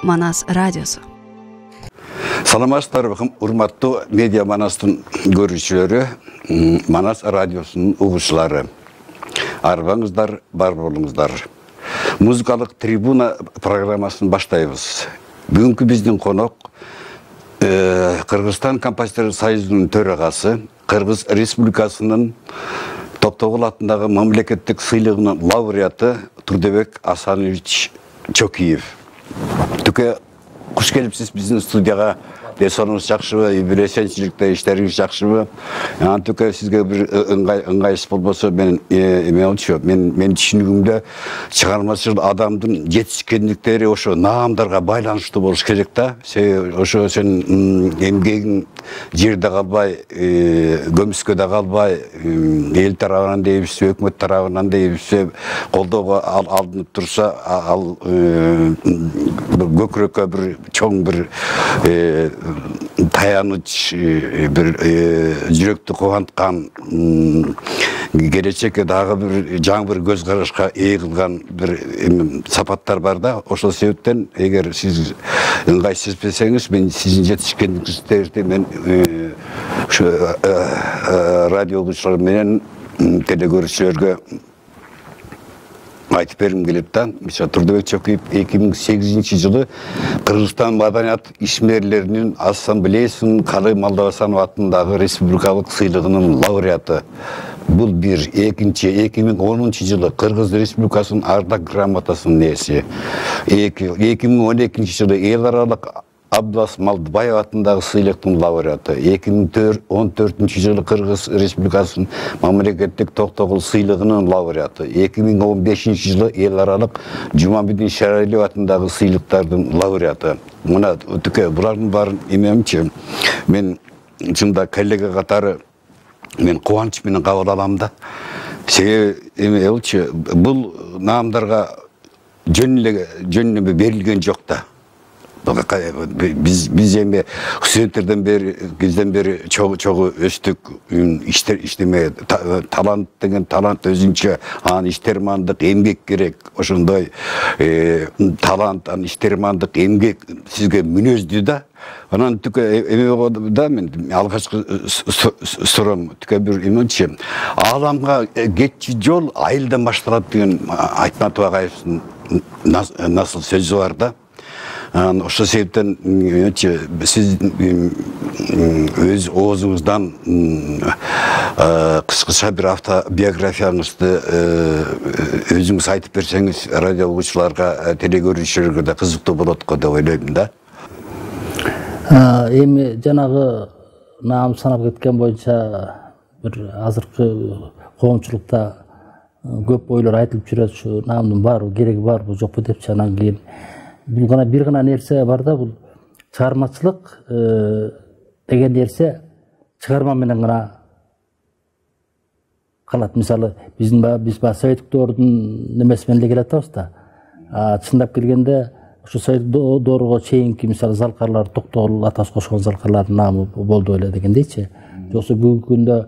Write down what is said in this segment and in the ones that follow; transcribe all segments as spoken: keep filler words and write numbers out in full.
Манас радиосу. Саламатсыздар, урматтуу медиа Манастын көрүүчүлөрү, Манас радиосунун угуучулары. Арбаңыздар, бар болуңуздар. Музыкалык трибуна программасын баштайбыз. Бүгүнкү биздин конок Кыргызстан композитор союзунун төрагасы, Кыргыз Республикасынын Токтогул атындагы мамлекеттик сыйлыгынын лауреаты Турдебек Асанович Чокиев. Түкө куш келипсиз биздин студияга. Десонуңуз жакшыбы, билесенчиликте иштериңиз жакшыбы? Анан түкө сизге бир ыңгайсыз болбосо мен эмелчү, мен мен түшүнүгүмдө чыгармачыл адамдын жетишкендиктери ошо наамдарга байланыштуу болуш керек да. Ошо сен эмгегиң жерде калбай, көмүскөдө калбай, эл тарабынан дейбизсе, өкмөт тарабынан дейбизсе, колдоого алынып турса, ал көкүрөккө бир чоң бир таяныч, бир жүрөктү кубанткан, келечекке дагы бир жаңы бир көз карашка ээ кылган бир сапаттар бар да. Ошол себептен эгер сиз ыңгайсыз сезбесеңиз, мен сиздин жетишкендигиңизди мен ушу радио угуучулар менен телекөрүүчүлөргө айтып бергим келет да. Мисалы Турдебек Чокиев эки миң сегизинчи жылы Кыргызстан маданият ишмерлеринин ассамблеясынын Калый Малдабасанов атындагы республикалык сыйлыгынын лауреаты. Бул бир. Экинчи, эки миң онунчу жылы Кыргыз Республикасынын ардак грамотасынын ээси. эки миң он экинчи жылы эл аралык Абдулас Малдыбаев атындагы сыйлыктын лауреаты. эки миң он төртүнчү жылы Кыргыз Республикасынын мамлекеттик Токтогул сыйлыгынын лауреаты. эки миң он бешинчи жылы эл аралык Жумабидин Шаралиев атындагы сыйлыктардын лауреаты. Мына түкө булардын баарын эмемчи, мен чында коллега катары мен кубанч менен кабыл алам да. Себеби эмелчи, бул наамдарга жөн эле жөн эле берилген жок да. Biz biz эми студенттерден бери, бизден бери чогуу өстүк, иштер иштеме, талант деген талант өзүнчө, анын иштермандык, эмгек керек. Ошондой талант, анын иштермандык, эмгек сизге мүнөздүү да. Анан түкө эме да мен алгачкы сурам түкө бир эмечи, ааламга кетчү жол айылдан башталат деген Айтматов агайыбыздын насыл сөзү бар да. Ошол себептен сиз өз оозуңуздан кыскача бир автобиографияңызды өзүңүз айтып берсеңиз, радио угуучуларга, телекөрүүчүлөргө да кызыктуу болот го деп ойлойм да. Эми жанагы наам санап кеткен боюнча бир азыркы коомчулукта көп ойлор айтылып жүрөт, ушу наамдын баары кереги барбы жокпу депчи. Анан кийин бул гана бир гана нерсе бар да, бул чыгармачылык деген нерсе чыгарма менен гана калат. Мисалы биздин биз ба советтик доордун немеси менен эле келе атабыз да. Чындап келгенде ошо советтик доорго чейинки мисалы залкарлар, Токтогул атасы кошкон залкарлардын наамы болду эле дегендейчи. Жоксо бүгүнкү күндө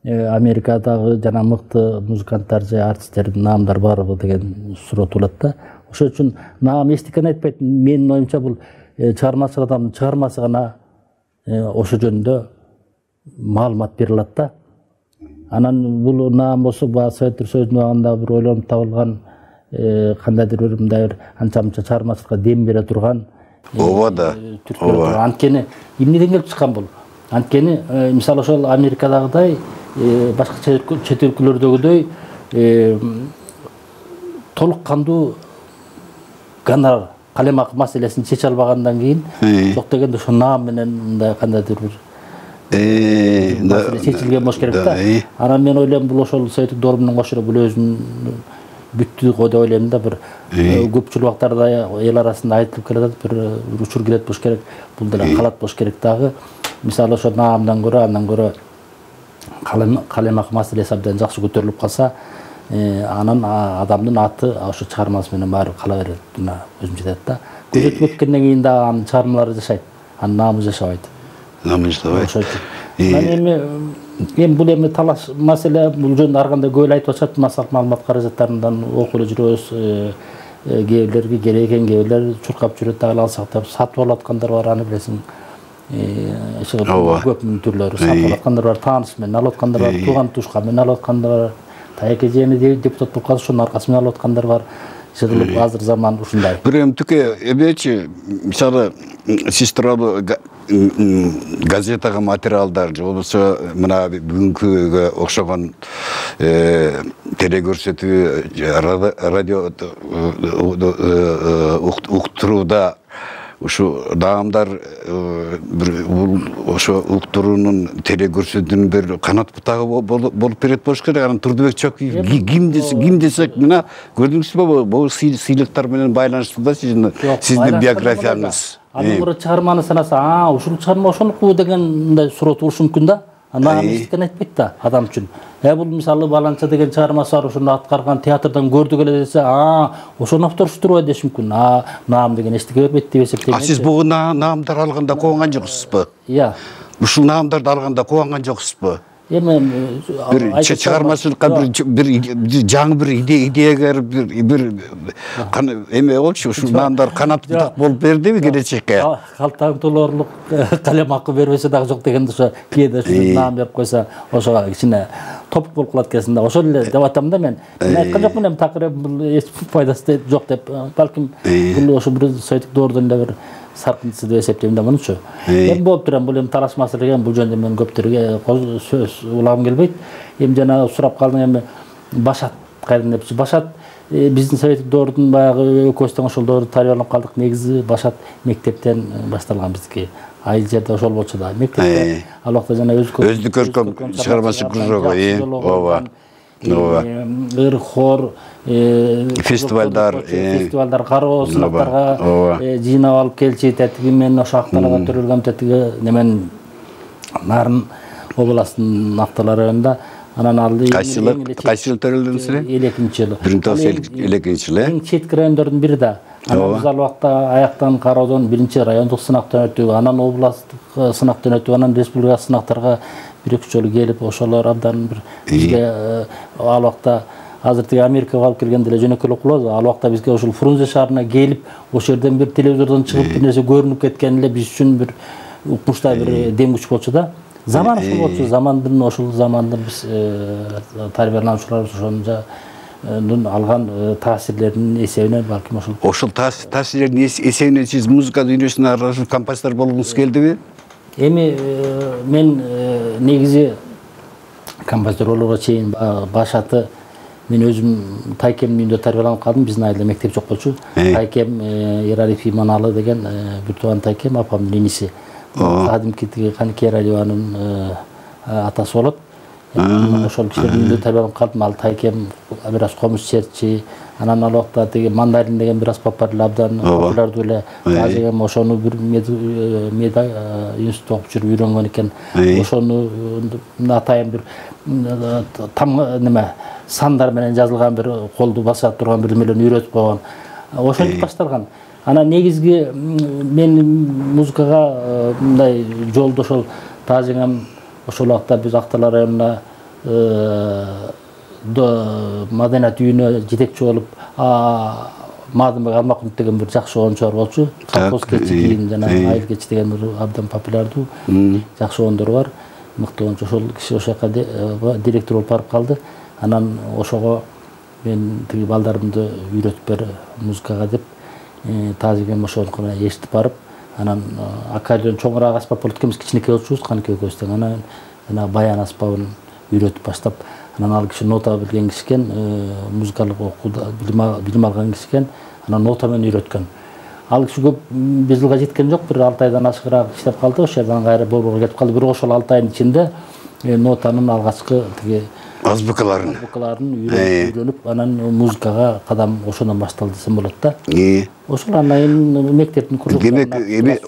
Америкадагы жана мыкты музыканттар же артисттердин наамдары барбы деген суроо туулат да. Ошол үчүн наам эчтекени айтпайт. Менин оюмча бул чыгармачы адамдын чыгармасы гана ошол жөнүндө маалымат бере алат да. Анан бул наам болсо баа Советтер Союзунун убагында бир ойлонуп табылган, кандайдыр бир мындай бир анча-мынча чыгармачылыкка дем бере турган. Ооба да. Ооба. Анткени эмнеден келип чыккан бул? Анткени мисалы ошол Америкадагыдай, башка чет өлкөлөрдөгүдөй толук кандуу гонорар, калемак маселесин чече албагандан кийин, жок дегенде ошо наам менен мындай кандайдыр бир чечилген болуш керек да. Анан мен ойлойм, бул ошол советтик доор менен кошо бул өзүнүн бүттү го деп ойлойм да. Бир көпчүлүк убактарда эл арасында айтылып келе жатат, бир учур келет болуш керек, бул деле калат болуш керек дагы. Мисалы ошо наамдан көрө, андан көрө калемак маселеси абдан жакшы көтөрүлүп калса, анан адамдын аты ошо чыгармасы менен баары кала берет. Мына өзүм жетет да. Көзөтүп өткөндөн кийин да анын чыгармалары жашайт, анын наамы жашабайт. Наамы жашабайт. Эми эми бул эми талаш маселе, бул жөнүндө ар кандай көп айтып атышат, массалык маалымат каражаттарынан окуп эле жүрөбүз. кээ бирлерге керек экен, кээ бирлер чуркап жүрөт, дагы алсак деп сатып алып аткандар бар, аны билесиң. Көп миң түрлөрү сатып алып аткандар бар, тааныш менен алып аткандар бар, тууган тушка менен алып аткандар бар, таяк эжени депутат болуп калса ошонун аркасы менен алып аткандар бар. Жыгылып азыр заман ушундай. Бир эмтике эмечи, мисалы сиз тууралуу газетага материалдар же болбосо мына бүгүнкүгө окшогон телекөрсөтүү, радио уктурууда ушу даамдар бир ошо уктуруунун телекөрсөтүүнүн бир канат бутагы болуп берет болуш керек. Анан Турдубек Чокуев ким ким десек мына көрдүңүзбү, бул сыйлыктар менен байланыштуу да сиздин биографияңыз. Анын бир чыгарманы санаса, а ушул чыгарма ошонуку деген мындай суроо туулушу мүмкүн да. Анан эчтеке айтпайт да адам үчүн. Э бул мисалы баланча деген чыгармасы бар, ошону аткарган театрдан көрдүк эле десе, а ошону авторшу турбай деш мүмкүн. А наам деген эчтеке бербейт деп эсептейм. А сиз бул наамдар алганда кубанган жоксузбу? Иә. Ушул наамдарды алганда кубанган жоксузбу? Эми бир чыгармачылыкка бир жаңы бир идеягер бир эме болчу, ушул наамдар канат бутак болуп бердиби келечекке? Калтаң толоорлук калем акы бербесе дагы жок дегенде ошо кээде ушул наам берип койсо ошого кичине топук болуп калат экенсиң да. Ошол эле деп атам да мен. Мен айткан жокмун эми такыр бул эч пайдасы жок деп. Балким бул ошо бир советтик доордон эле бир саркынтысы деп эсептейм да мунучу. Эми болуп турам, бул эми талаш маселе экен, бул жөнүндө мен көптөргө сөз улагым келбейт. Эми жана сурап калдың эми Башат кайдан депчи. Башат биздин советтик доордун баягы өкөстөн ошол доордо тарбияланып калдык. Негизи Башат мектептен башталган биздики. Айыл жерде ошол болчу да. Мектепте ал убакта жана өздүк көркөм чыгармачылык кружогу, ооба. Ыр хор, фестивалдар, фестивалдар кароо сынактарга жыйнап алып келчи, тетиги менен ошо акталарга төрөлгөн тетиги немен Нарын областынын Актала районунда. Анан ал кайсы жыл кайсы жыл төрөлдүңүз эле? элүү экинчи жылы. бир миң тогуз жүз элүү экинчи жылы. Эң четки райондордун бири да. Анан биз ал убакта аяктан кароодон биринчи райондук сынактан өтүп, анан областтык сынактан өтүп, анан республикалык сынактарга бир-эки жолу келип, ошолор абдан бир бизге ал убакта азыр тиги Америкага алып келгенде эле жөнөкөй эле кылабыз. Ал убакта бизге ошол Фрунзе шаарына келип, ошол жерден бир телевизордон чыгып бир нерсе көрүнүп кеткен эле биз үчүн бир укмуштай бир дем күч болчу да. Заман ушул болчу, замандын ошол заманды биз тарбиялануучулар ошонун алган таасирлеринин эсебинен балким ошол. Ошол таасирлердин эсебинен сиз музыка дүйнөсүнө аралашып композитор болгуңуз келдиби? Эми мен негизи композитор болууга чейин Башаты мен өзүм Тайкем үйүндө тарбияланып калдым. Биздин айылда мектеп жок болчу. Тайкем Эралиев Иманалы деген бир тууган Тайкем апамдын иниси. Кадимки тиги Канике Эралиеванын атасы болот. Ошол кишилердин үйүндө тарбияланып калдым. Ал Тайкем бир аз комуз чертчи. Анан ал убакта тиги Мандарин деген бир аспап бар эле, абдан популярдуу эле. Азыр эми ошону бир меда институтта окуп жүрүп үйрөнгөн экен. Ошону атайын бир там неме сандар менен жазылган бир колду баса турган бирдемелерни үйрөтүп койгон. Ошентип башталган. Анан негизги мен музыкага мындай жолдо ошол таажеңем ошол убакта биз Актала районуна маданият үйүнө жетекчи болуп, Мадымбек Алмакунов деген бир жакшы оончу бар болчу. Колхоз кечи кийин жана айыл кечи деген бир абдан популярдуу жакшы оондор бар. Мыкты оончу. Ошол киши ошол жака директор болуп барып калды. Анан ошого мен тиги балдарымды үйрөтүп бер музыкага деп таажегем ошону эшитип барып, анан аккордеон чоңураак аспап болот экен, биз кичинекей болчубуз, Каныке экөөбүз. Анан жана баян аспабын үйрөтүп баштап, анан ал киши нота билген киши экен, музыкалык окууда билим алган киши экен, анан нота менен үйрөткөн. Ал киши көп бир жылга жеткен жок, бир алты айдан ашыгыраак иштеп калды, ошол жерден кайра Борборго кетип калды. Бирок ошол алты айдын ичинде нотанын алгачкы тиги азбукаларын азбукаларын үйрөнүп, анан музыкага кадам ошондон башталды десем болот да. Ошол анан мектептин кружоктарына. Демек, эми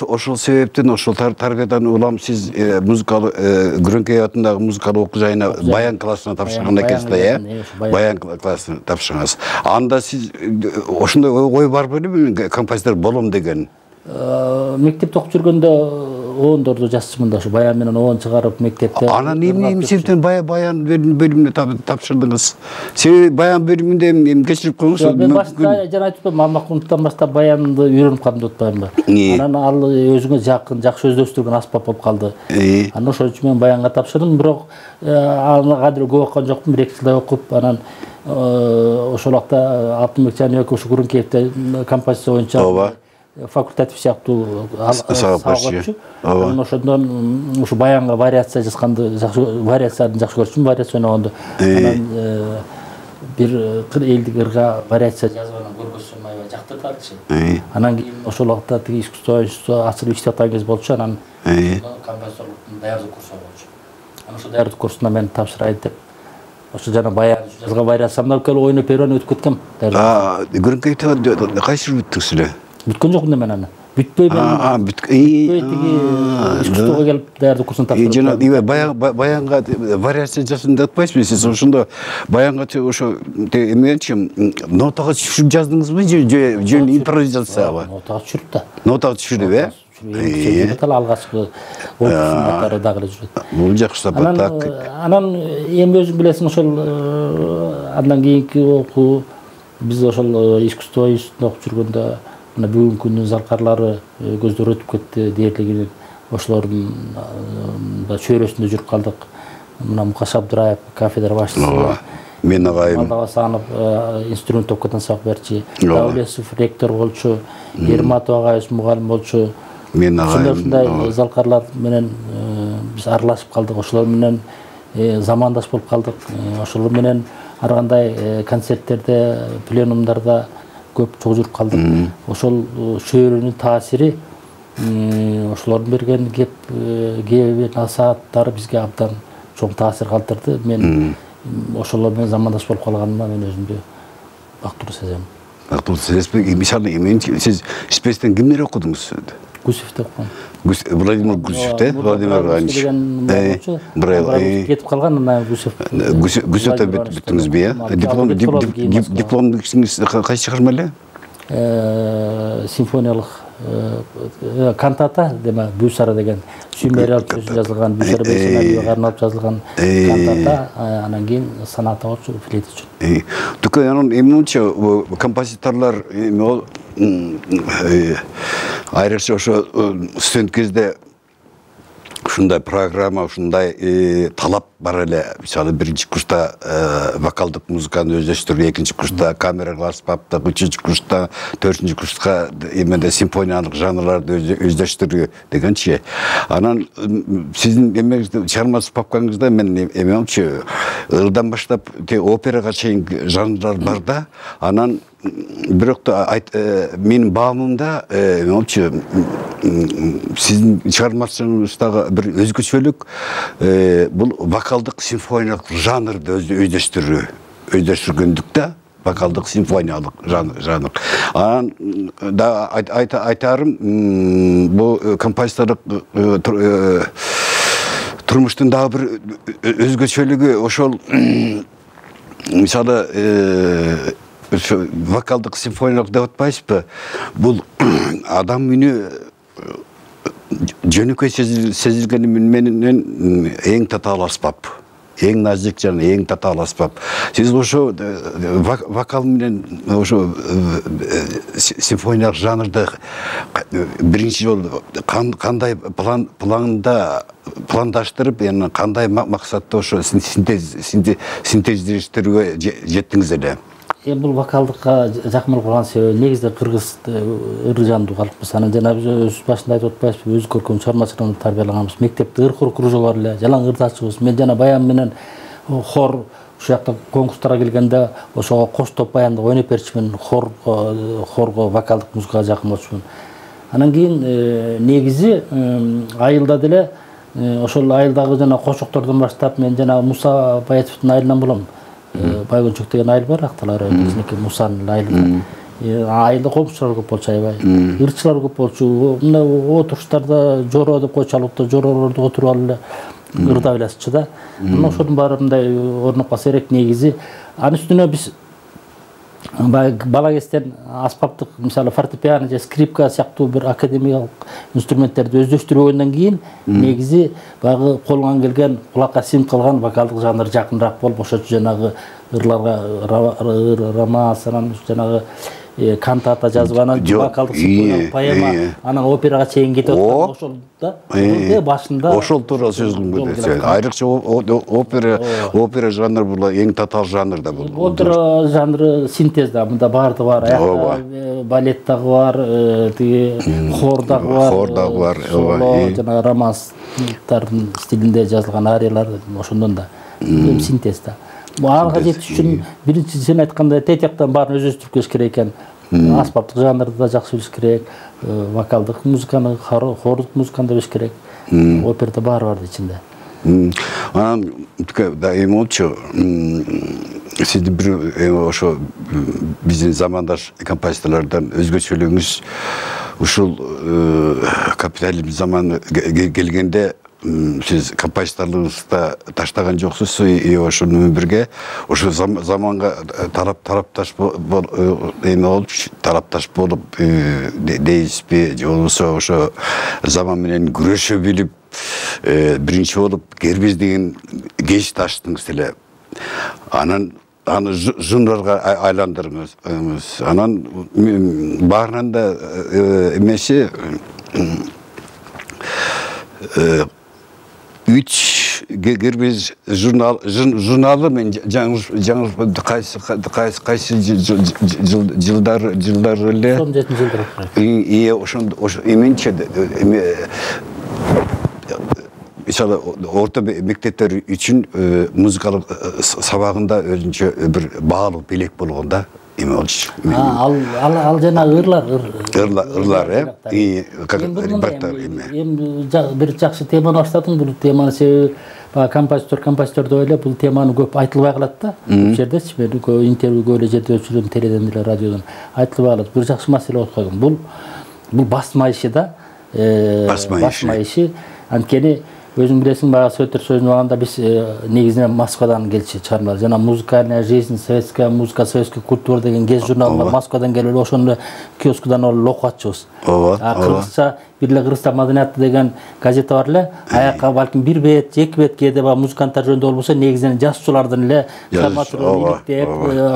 ошол себептен ошол тарбиядан улам сиз музыкалык Күрөңкөй атындагы музыкалык окуу жайына баян классына тапшырган экенсиз да, э? Баян классына тапшыргансыз. Анда сиз ошондой ой бар белеби, композитор болом деген? Мектепте окуп жүргөндө оондорду жазчымын да, ушу баян менен оон чыгарып мектепте. Анан эмне себептен баян бөлүмүнө тапшырдыңыз? Себеби баян бөлүмүндө эми кечирип коюңуз. Мен башта жана айтып атпаймынбы, Мамакунуттан баштап баянды үйрөнүп калдым деп атпаймынбы. Анан ал өзүңө жакын, жакшы өздөштүргөн аспап болуп калды. Анан ошон үчүн мен баянга тапшырдым, бирок аны кадыр көп окуган жокмун, бир эки жылдай окуп, анан ошол убакта Алтынбек Жаныбеков ушу Курункеевде композиция боюнча факультатив сыяктуу сабак. Анан ошондон ушу баянга вариация жазганды жакшы, вариацияларды жакшы көрчүмүн, вариация ойногонду. Анан бир элдик ырга вариация жазып анан көргөзсөм аябай жактырдыларчы. Анан кийин ошол убакта тиги искусство институту ачылып иштеп аткан кез болчу, анан композиторлуктун даярдык курсу болчу. Анан ошол даярдык курсуна мен тапшырайын деп ошо жана баян жазган вариациямды алып келип ойноп берип өтүп кеткем. Көрүнкөйдө кайсы жыл бүттүңүз эле? Бүткөн жокмун да мен аны. Бүтпөй мен. Бүтпөй тиги искусствого келип даярдык курсуна тапшырдым. Жана баянга вариация жасадым деп атпайсызбы? Сиз ошондо баянга ошо эмечи нотага түшүрүп жаздыңызбы же жөн импровизациябы? Нотага түшүрүп да. Нотага түшүрүп, э? Алгачкы опусунда дагы эле жүрөт. Бул жакшы сапат. Анан эми өзүң билесиң, ошол андан кийинки окуу биз ошол искусство институтунда окуп жүргөндө мына бүгүнкү күндүн залкарлары көздөр өтүп кетти дээрлигинин, ошолордун да чөйрөсүндө жүрүп калдык. Мына Мукаш Абдыраев кафедра башчысы, мен агайым Малдабасанов инструмент топкотон сабак берчи, Даулесов ректор болчу, Ерматов агайыбыз мугалим болчу. Мен агайым ушундай залкарлар менен биз аралашып калдык, ошолор менен замандаш болуп калдык. Ошолор менен ар кандай концерттерде, пленумдарда көп чогуу жүрүп калдык. Ошол чөйрөнүн таасири, ошолордун берген кеп кеби насааттары бизге абдан чоң таасир калтырды. Мен ошолор менен замандаш болуп калганыма мен өзүмдү бактылуу сезем. Бактылуу сезесизби? Мисалы, мен сиз спецтен кимдер окудуңуз? Гусевди окугам. Владимир Гусев, те? Владимир Иванович. Кетип калган, анан Гусев. Гусевде бүттүңүзбү, э? Диплом, дипломдуңуз кайсы чыгарма эле? Симфониялык кантата, деме, Бүйсара деген Сүймер сөзү жазылган, Бүйсара Бейсеналиевге арналып жазылган кантата, анан кийин соната болчу, флейта үчүн. Тука анан эмнече композиторлор айрыкча ошо студент кезде ушундай программа, ушундай талап бар эле. Мисалы, биринчи курста вокалдык музыканы өздөштүрүү, экинчи курста камералык аспапты, үчүнчү курста, төртүнчү курска эмеде симфониялык жанрларды өздөштүрүү дегенчи. Анан сиздин эмеңизде, чыгармасы папкаңызда мен эмемчи ырдан баштап операга чейинки жанрлар бар да. Анан бирок да менин баамымда эмемчи сиздин чыгармачылыгыңыздагы бир өзгөчөлүк бул вокалдык симфониялык жанрды өздөштүрүү, өздөштүргөндүк да, вокалдык симфониялык жанр. Анан да айтарым, бул композиторлук турмуштун дагы бир өзгөчөлүгү ошол, мисалы, вокалдык симфониялык деп атпайсызбы? Бул адам үнү жөнөкөй сезилгени менен эң татаал аспап, эң назик жана эң татаал аспап. Сиз ошо вокал менен ошо симфониялык жанрды биринчи жолу кандай планда пландаштырып, эми кандай максатта ошо синтездештирүүгө жеттиңиз эле? Эми бул вокалдыкка жакын болуп калган себеби негизде кыргыз ыр жандуу калкпыз. Анан жана биз өз башында айтып атпайбызбы, өз көркөм чыгармачылыгында тарбиялаганбыз. Мектепте ыр кружо бар эле, жалаң ырдачыбыз. Мен жана баян менен хор ушул жакта конкурстарга келгенде ошого кош топ баянды ойноп берчүмүн, хор хорго вокалдык музыкага жакын болчумун. Анан кийин негизи айылда деле ошол айылдагы жана кошоктордон баштап мен жана Муса Баятовдун айылынан болом. Байгөнчөк деген айыл бар, акталары бизники Мусанын айылында. Айылда комчулар көп болчу, аябай. Ырчылар көп болчу. Мына отуруштарда жоро деп койчу, албетте жоролорду отуруп алып эле ырдап элесичи да. Мына ошонун баары мындай орноп калса керек негизи. Анын үстүнө биз бала кезден аспаптык мисалы фортепиано же скрипка сыяктуу бир академиялык инструменттерди өздөштүргөндөн кийин негизи баягы колуңан келген кулакка сиңип калган вокалдык жанр жакыныраак болуп ошочу жанагы ырларга романс анан жанагы кантата жазып анан вокалдык симфониялык поэма анан операга чейин кетип аткан ошол да башында ошол туура сөз кылдым. Айрыкча опера опера жанры бул эң татаал жанр да бул. Опера жанры синтез да, мында баардыгы бар. Аякта балет дагы бар, тиги хор дагы бар. Хор дагы бар. Жана романстардын стилинде жазылган ариялар ошондон да синтез да. Ага жетиш үчүн биринчи сен айткандай тетяктан баарын өздөштүрүп келиш керек экен. Аспаптык жанрды да жакшы билиш керек, вокалдык музыканы, хордук музыканы да билиш керек. Операда баары бар ичинде. Анан да эми болчу, сиздин бир ошо биздин замандаш композиторлордон өзгөчөлүгүңүз ушул капитализм заманы келгенде сиз композиторлугуңузда таштаган жоксуз, и ошо менен бирге ошо заманга тарап тарапташ эме болуп тарапташ болуп дейсизби, же болбосо ошо заман менен күрөшө билип биринчи болуп кербез деген кеч таштыңыз эле. Анан аны жундарга айландырыңыз. Анан баарынан да эмеси үч кербез журнал журналы мен жаңы кайсы кайсы кайсы жылдар жылдар эле он жетинчи жылдар. И ошондо эменче мисалы орто мектептер үчүн музыкалык сабагында өзүнчө бир баалуу белек болгон да эме болчу. Ал ал жана ырлар ырлар ырлар э эми бир жакшы теманы баштадың. Бул теманы себеби композитор композитор деп эле бул теманы көп айтылбай калат да. Бул жердечи мен көп интервью көп эле жерде өчүрдүм, теледен эле радиодон айтылбай калат. Бир жакшы маселе болуп койгон. Бул бул басма иши да. Басма иши. Анткени өзүң билесиң, баягы Советтер Союзуна барганда биз негизинен Москвадан келчү чыгармалар. Жана музыкальная жизнь, советская музыка, советская культура деген гез журнал бар. Москвадан келип ошону киоскудан алып окуп атчыбыз. А кыргызча бир эле кыргызстан маданияты деген газета бар эле. Аякка балким бир бет, эки бет кээде баягы музыканттар жөнүндө болбосо негизинен жазуучулардын эле драматургун иликтеп,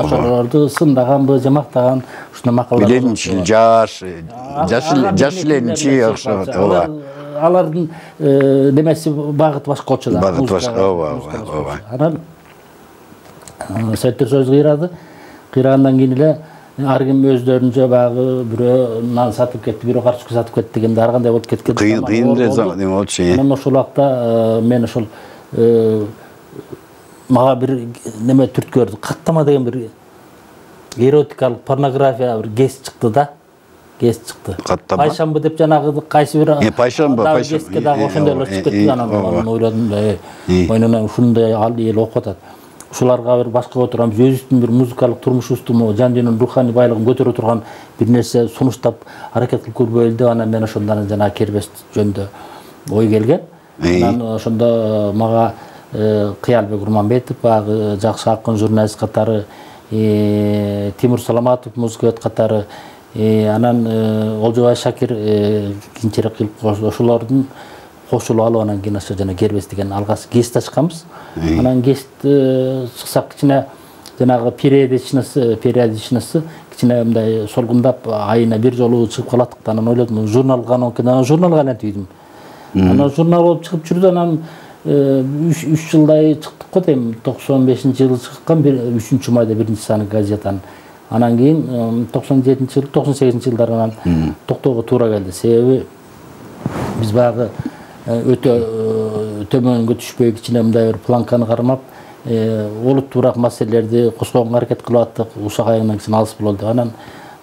ошолорду сындаганбы, жамактаган ушундай макалалар. Биленчил жаш, жаш эленчи окшогон. Ооба. Алардын немеси багыты башка болчу да. Багыты башка, ооба, ооба. Анан Советтер Союзу кыйрады. Кыйрагандан кийин эле ар ким өздөрүнчө баягы бирөө нан сатып кетти, бирөө карточка сатып кетти дегенде ар кандай болуп кеткен. Кыйын кыйын эле эме болчу. Анан ошол убакта мен ошол мага бир неме түрткөрдү. Каттама деген бир эротикалык порнография бир кез чыкты да. Кез чыкты. Пайшамбы деп жанагы кайсы бир пайшамбы, пайшамбы. Кезге дагы ошондой эле чыгып кетти. Анан ойладым да, ойнона ушундай ал эл окуп атат. Ушуларга бир башка отурам, өзүбүздүн бир музыкалык турмушубузду, жан дүйнөнүн руханий байлыгын көтөрө турган бир нерсе сунуштап аракет кылып көрбөйлү деп анан мен ошондон жана кербез жөнүндө ой келген. Анан ошондо мага Кыялбек Урманбетов, баягы жакшы акын, журналист катары, Тимур Саламатов, музыкант катары, анан Олжобай Шакир кийинчерээк кылып ошолордун кошулуп алып анан кийин ошо жана кербез деген алгачкы гест ачканбыз. Анан гест чыксак кичине жанагы периодичность периодичность кичине мындай солгундап айына бир жолу чыгып калаттык да. Анан ойлодум, журналга анан журналга айлантып. Анан журнал болуп чыгып жүрдү. Анан үч жылдай чыктык го дейм. токсон бешинчи жылы чыккан, үчүнчү майда биринчи саны газетанын. Анан кийин токсон жетинчи жыл, токсон сегизинчи жылдары анан токтоого туура келди. Себеби биз баягы өтө төмөнгө түшпөй кичине мындай бир планканы кармап, олуттуураак маселелерди козгогонго аракет кылып аттык. Ушак айынан кичине алыс бололду. Анан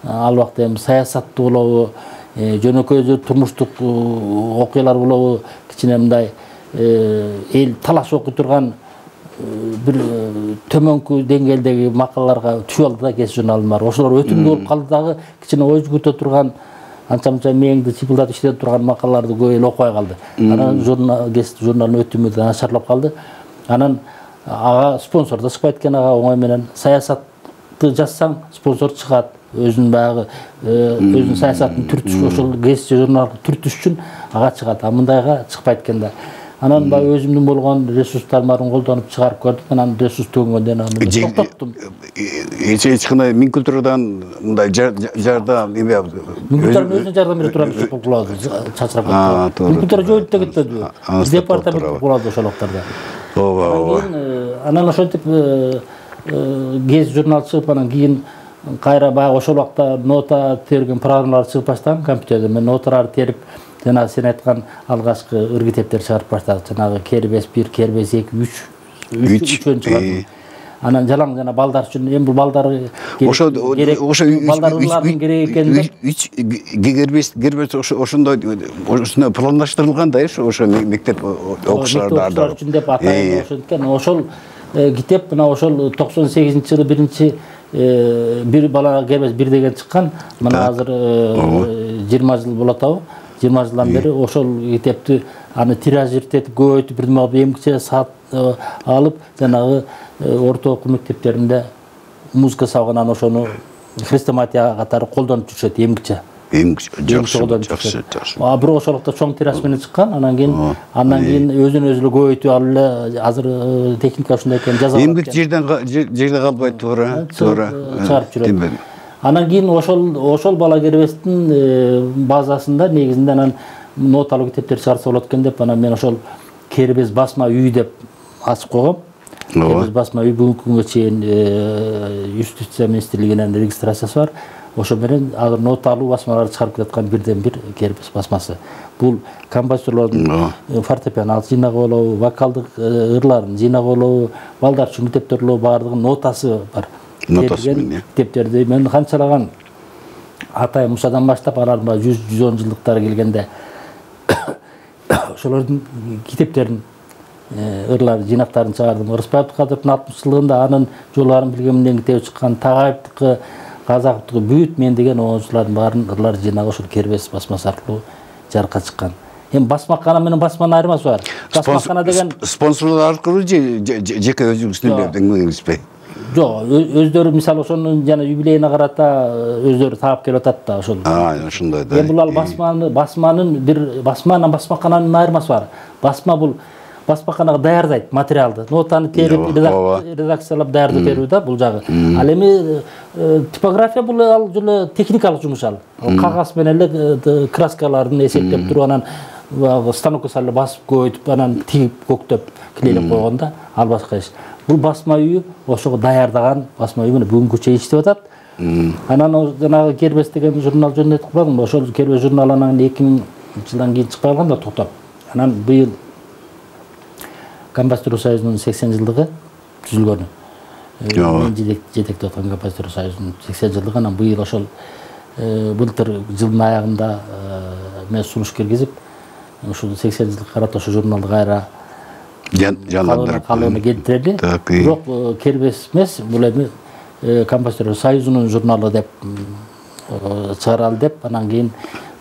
ал убакта эми саясаттуу болобу, жөнөкөй турмуштук окуялар болобу, кичине мындай эл талаш окуй турган бир төмөнкү деңгээлдеги макалаларга түшүп алды да. Кез журналым бар. Ошолор өтүмдүү болуп калды дагы, кичине ой жүгүртө турган, анча-мынча мээңди чыпылдатып иштетип турган макалаларды көп эл окубай калды. Анан журнал кез журналдын өтүмү да начарлап калды. Анан ага спонсор да чыкпайт экен, ага оңой менен саясат жазсаң спонсор чыгат, өзүнүн баягы өзүнүн саясатын түртүш, ошол гез журнал түртүш үчүн ага чыгат, а мындайга чыкпайт экен да. Анан баягы өзүмдүн болгон ресурстарым барын колдонуп чыгарып көрдүм, анан ресурс төгөнгөндөн анан токтоттум. Эч кандай Минкультурадан мындай жардам эме Минкультуранын өзүнө жардам бере турган иши кылабыз, чачырап кетти. Минкультура жоюп да кетпеди. Департамент кылабыз ошол убактарда. Ооба. Анан ошентип гез журнал чыгып, анан кийин кайра баягы ошол убакта нота терген программалар чыгып баштаган компьютерде. Мен ноталарды терип, жана сен айткан алгачкы ыр китептерди чыгарып баштадык. Жанагы Кербез бир, Кербез эки, үч, үчөн чыгарды. Анан жалаң жана балдар үчүн, эми бул балдар ошо ошо балдарлардын керек экенин үч Кербез Кербез ошондой ошондой пландаштырылган да, ошо мектеп окуучулар үчүн деп атайын ошенткен. Ошол китеп мына ошол токсон сегизинчи жылы биринчи бир бала Кербез бир деген чыккан. Мына азыр жыйырма жыл болот абы. жыйырма жылдан бери ошол китепти аны тиражиртетип көбөйтүп бирдеме кылып эмгиче саат алып, жанагы орто окуу мектептеринде музыка сабагынан ошону хрестоматия катары колдонуп жүрүшөт эмгиче. Эмгиче жакшы, жакшы. А бирок ошол убакта чоң тираж менен чыккан, анан кийин андан кийин өзүн өзү көбөйтүп алып эле азыр техника ушундай экен жаза алат. Эмгик жерден жерде калбай туура, туура чыгарып жүрөт. Анан кийин ошол ошол бала Кербездин базасында негизинде анан ноталуу китептер чыгарса болот экен деп, анан мен ошол Кербез басма үй деп ачып койгом. Кербез басма үй бүгүнкү күнгө чейин Юстиция министрлигинен регистрациясы бар. Ошо менен азыр ноталуу басмаларды чыгарып жаткан бирден бир Кербез басмасы. Бул композиторлордун фортепиано жыйнагы болобу, вокалдык ырларын жыйнагы болобу, балдар үчүн китептер болобу, баардыгынын нотасы бар. Нотасы менен китептерди мен канчалаган Атай Мусадан баштап алардын жүз жүз он жылдыктары келгенде ошолордун китептерин, ырларын, жыйнактарын чыгардым. Ырысбай Абдыкадыровдун алтымыш жылдыгында анын жолларын билгемден китеби чыккан, Тагаевдики, Казаковдуку бүт мен деген оңчулардын баарын ырлар жыйнагы ошол Кербез басмасы аркылуу жарыкка чыккан. Эми басмакана менен басманын айырмасы бар. Басмакана деген спонсорлор аркылуу же жеке өзүңүздүн эмгегиңизби? Жок, өздөрү мисалы ошонун жана юбилейине карата өздөрү таап келип атат да ошол. А, ошондой да. Эми бул ал басманы, басманын бир басма менен басмакананын айырмасы бар. Басма бул басмаканага даярдайт материалды. Нотаны терип, редакциялап даярдап берүү да бул жагы. Ал эми типография бул ал жолу техникалык жумуш ал. Кагаз менен эле краскаларын эсептеп туруп анан станокко салып басып көбөйтүп анан тигип көктөп клейлеп койгон да, ал башка иш. Бул басма үйү ошого даярдаган басма үйү менен бүгүнкү чейин иштеп атат. Анан жанагы Кербез деген журнал жөнүндө айтып калдым. Ошол Кербез журналы анан эки миң жылдан кийин чыкпай калган да токтоп. Анан быйыл Композитор союзунун сексен жылдыгы түзүлгөнү. Мен жетектеп аткан Композитор союзунун сексен жылдыгы, анан быйыл ошол былтыр жылдын аягында мен сунуш киргизип, ушул сексен жылдыкка карата ошол журналды кайра жандандырып калыбына келтирели. Бирок Кербез эмес, бул эми Композитор союзунун журналы деп чыгаралы деп, анан кийин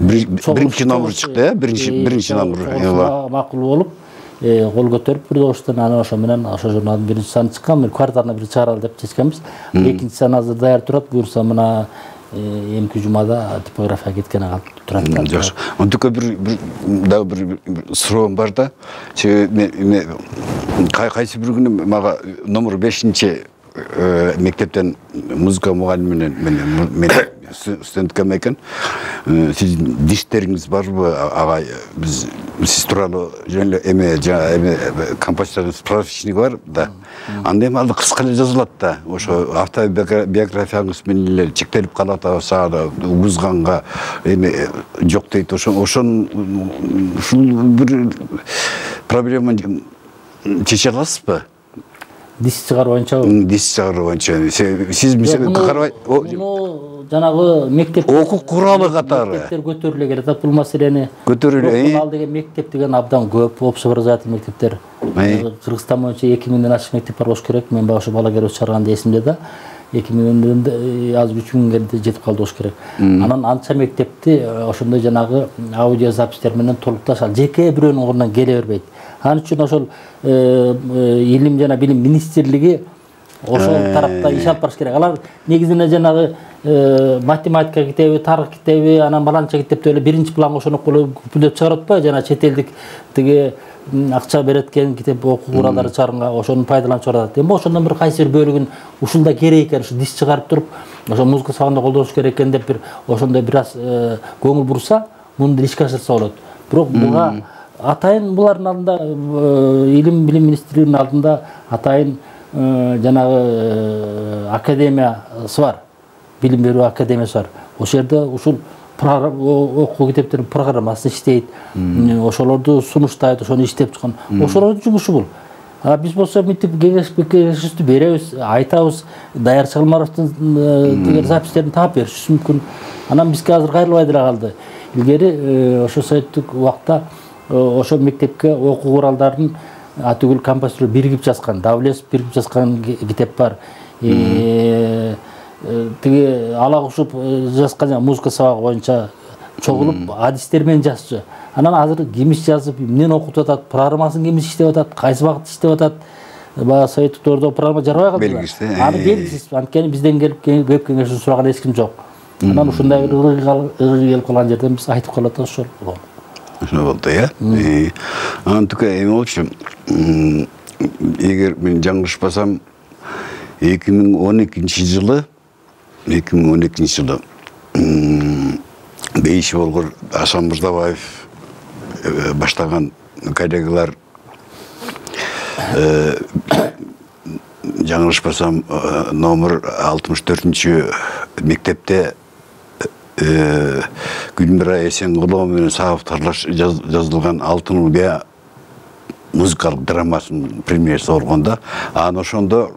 биринчи номер чыкты, э, биринчи биринчи номер макул болуп кол көтөрүп бир добуштан анан ошо менен ошо журналдын биринчи саны чыккан. Мен кварталына бир чыгаралы деп чечкенбиз. Экинчи сан азыр даяр турат. Буюрса мына эмки жумада типографияга кеткени калып турат. Жакшы. Антике бир дагы бир суроом бар да. Кайсы бир күнү мага номер бешинчи мектептен музыка мугалиминен мен студенткам экен. Сиздин диштериңиз барбы агай? Биз сиз тууралуу жөн эле эме эме композитордун справочниги бар да. Анда эми ал кыска эле жазылат да. Ошо автобиографияңыз менен эле чектелип калат, сага угузганга эме жок дейт. Ошо ошон ушул бир проблеманы чече аласызбы? Дис чыгаруу боюнчабы? Дис чыгаруу боюнча. Сиз мисалы карабай, жанагы мектеп окуу куралы катары мектептер көтөрүлө келет бул маселени. Көтөрүлө. Ал деген мектеп деген абдан көп, общеобразовательный мектептер. Кыргызстан боюнча эки миңден ашык мектеп бар болуш керек. Мен башка бала Кербез чыгарганда эсимде да. эки миңден азыр үч миңге жетип калды болуш керек. Анан анча мектепти ошондой жанагы аудио запистер менен толукташ ал жеке бирөөнүн ордунан келе бербейт. Ал үчүн ошол илим жана билим министрлиги ошол тарапта иш алып барыш керек. Алар негизинен жанагы математика китеби, тарых китеби, анан баланча китепти эле биринчи планга ошоноп бүлөп чыгарып атпайбы? Жана чет элдик тиги акча берет экен китеп окуу куралдары чыгарганга ошону пайдаланып чыгарат. Эми ошондон бир кайсы бир бөлүгүн ушунда керек экен, ушу дис чыгарып туруп, ошо музыка сабагында колдонуш керек экен деп бир ошондой бир аз көңүл бурса, муну ишке ашырса болот. Бирок буга атайын булардын алдында, илим билим министрлигинин алдында атайын жанагы академиясы бар. Билим берүү академиясы бар. Ошол жерде ушул окуу китептердин программасы иштейт. Ошолорду сунуштайт, ошону иштеп чыккан. Ошолордун жумушу бул. А биз болсо мынтип кеңешти беребиз, айтабыз, Даяр Чагылмаровдун тигер запистерин таап беришибиз мүмкүн. Анан бизге азыр кайрылбай деле калды. Илгери ошо советтик убакта ошо мектепке окуу куралдарын атүгүл композитор биригип жазган, Давлесов биригип жазган китеп бар. Тиги ала кушуп жазган музыка сабагы боюнча чогулуп адистер менен жазчу. Анан азыр кимиш жазып, эмнени окутуп атат, программасын кимиш иштеп атат, кайсы багытта иштеп атат. Баа советтик дöwөрдө программа жарабай калды. Белгисиз. Аны белгисиз. Анткени бизден келип көп кеңешин сураган эч ким жок. Анан ушундай бир ыргы келип калган жерден биз айтып калат ошол. Ошо болду, э? Анан тике эме болчу. Эгер мен жаңылышпасам, эки миң он экинчи жылы эки миң он экинчи жылы бейиши болгор Асан Мырзабаев баштаган коллегалар жаңылышпасам номер алтымыш төртүнчү мектепте Гүлмира Эсенгулова менен сабактарлаш жазылган Алтын Уя музыкалык драмасын премьерасы болгондо, анан ошондо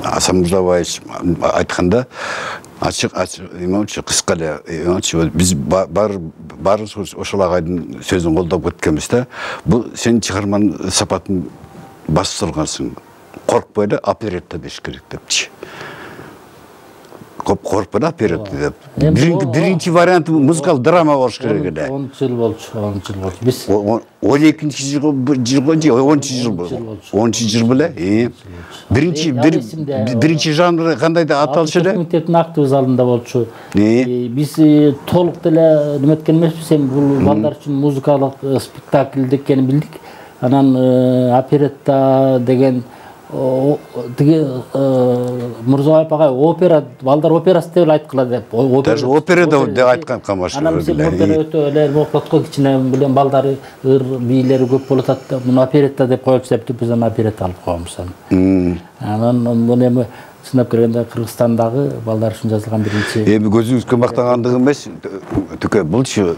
Асан Мырзабаев айтканда ачык эме болчу, кыска эле эме болчу, биз баарыбыз ошол агайдын сөзүн колдоп кеткенбиз да. Бул сен чыгарманын сапатын басып коркпой эле оперетта деш керек депчи. Коркпой эле оперетта деп. Биринчи варианты музыкалык драма болуш керек эле. он жыл болчу, он жыл болчу. Биз он экинчи жылга же онунчу жыл болчу. онунчу жыл беле. Биринчи биринчи жанр кандай да аталышы эле? Мектептин актовый залында болчу. Биз толук деле неметкен эмеспиз, эми бул балдар үчүн музыкалык спектакль экенин билдик. Анан оперетта деген тиги Мырзабаев агай опера, балдар операсы деп айткыла деп. Даже опера деп айткан камашыр. Анан биз опера өтө эле мокотко кичине билен балдары ыр бийлери көп болуп атат. Муну оперетта деп коелучу деп биз аны оперетта алып койгонбуз аны. Анан муну эми сынап келгенде Кыргызстандагы балдар үчүн жазылган биринчи. Эми көзүңүзгө мактагандык эмес, тике булчу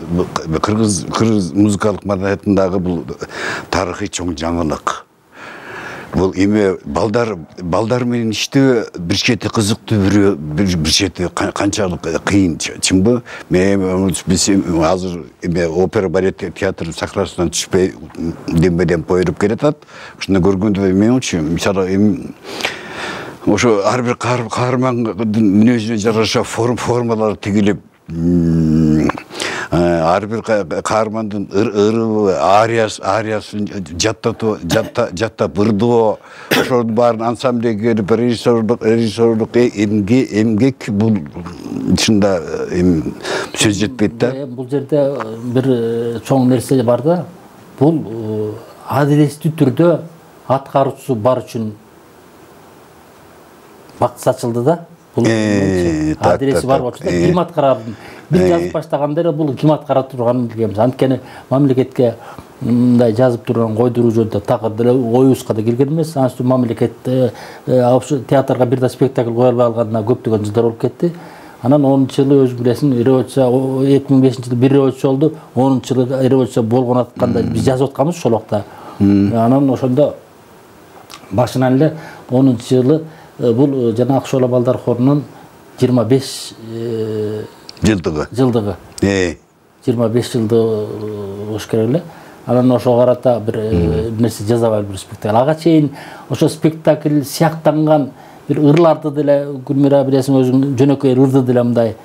кыргыз кыргыз музыкалык маданиятындагы бул тарыхый чоң жаңылык. Бул эми балдар балдар менен иштөө бир чети кызыктуу, бир чети канчалык кыйын, чынбы? Мен биз азыр эме опера балет театр сахнасынан түшпөй дембеден поюп келатат. Ушуну көргөндө мен үчүн мисалы эми ошо ар бир каармандын мүнөзүнө жараша форм формалар тигилип, ар бир каармандын ыры ариясы ариясын жаттатып жаттап ырдоо, ошонун баарын ансамбльге келип режиссерлук режиссерлук эмгек бул чында эми сөз жетпейт да. Бул жерде бир чоң нерсе бар да. Бул адилеттүү түрдө аткаруучусу бар үчүн бакыт сачылды да. Бул адреси бар болчу да, ким аткарарын. Бир жазып баштаганда эле бул ким аткара турганын билгенбиз. Анткени мамлекетке мындай жазып турган койдуруу жөнүндө такыр деле оюбузга да келген эмес. Анан үстүн мамлекет театрга бир да спектакль кое албай калганына көптөгөн жылдар болуп кетти. Анан онунчу жылы өзүң билесиң, революция эки миң бешинчи жылы бир революция болду. онунчу жылы революция болгон атканда биз жазып атканбыз ошол убакта. Анан ошондо башынан эле онунчу жылы бул жана Акшола балдар хорунун жыйырма беш жылдыгы. Жылдыгы. Э. жыйырма беш жылды болуш керек эле. Анан ошого карата бир нерсе жазабай бир спектакль. Ага чейин ошо спектакль сыяктанган бир ырларды деле Гүлмира билесиң өзүң жөнөкөй ырды деле мындай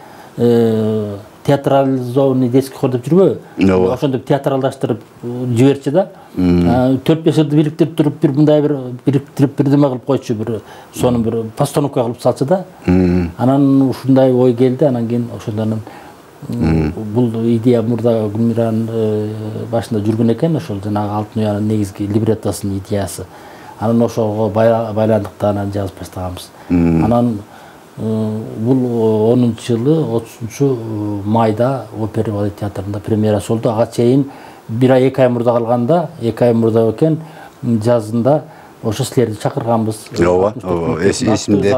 театрализованный детский хор деп жүрбөбү, ошондоп театралдаштырып жиберчи да, төрт беш жылды бириктирип туруп бир мындай бир бириктирип бирдеме кылып койчу, бир сонун бир постановка кылып салчу да. Анан ушундай ой келди, анан кийин ошондон бул идея мурда Гүлмиранын башында жүргөн экен, ошол жанагы Алтын уянын негизги либреттосунун идеясы. Анан ошого байландыкта анан жазып баштаганбыз. Анан бул онунчу жылы отузунчу майда Опера балет театрында премьерасы болду. Ага чейин бир ай эки ай мурда калганда, эки ай мурда экен, жазында ошо силерди чакырганбыз. Ооба, эсимде.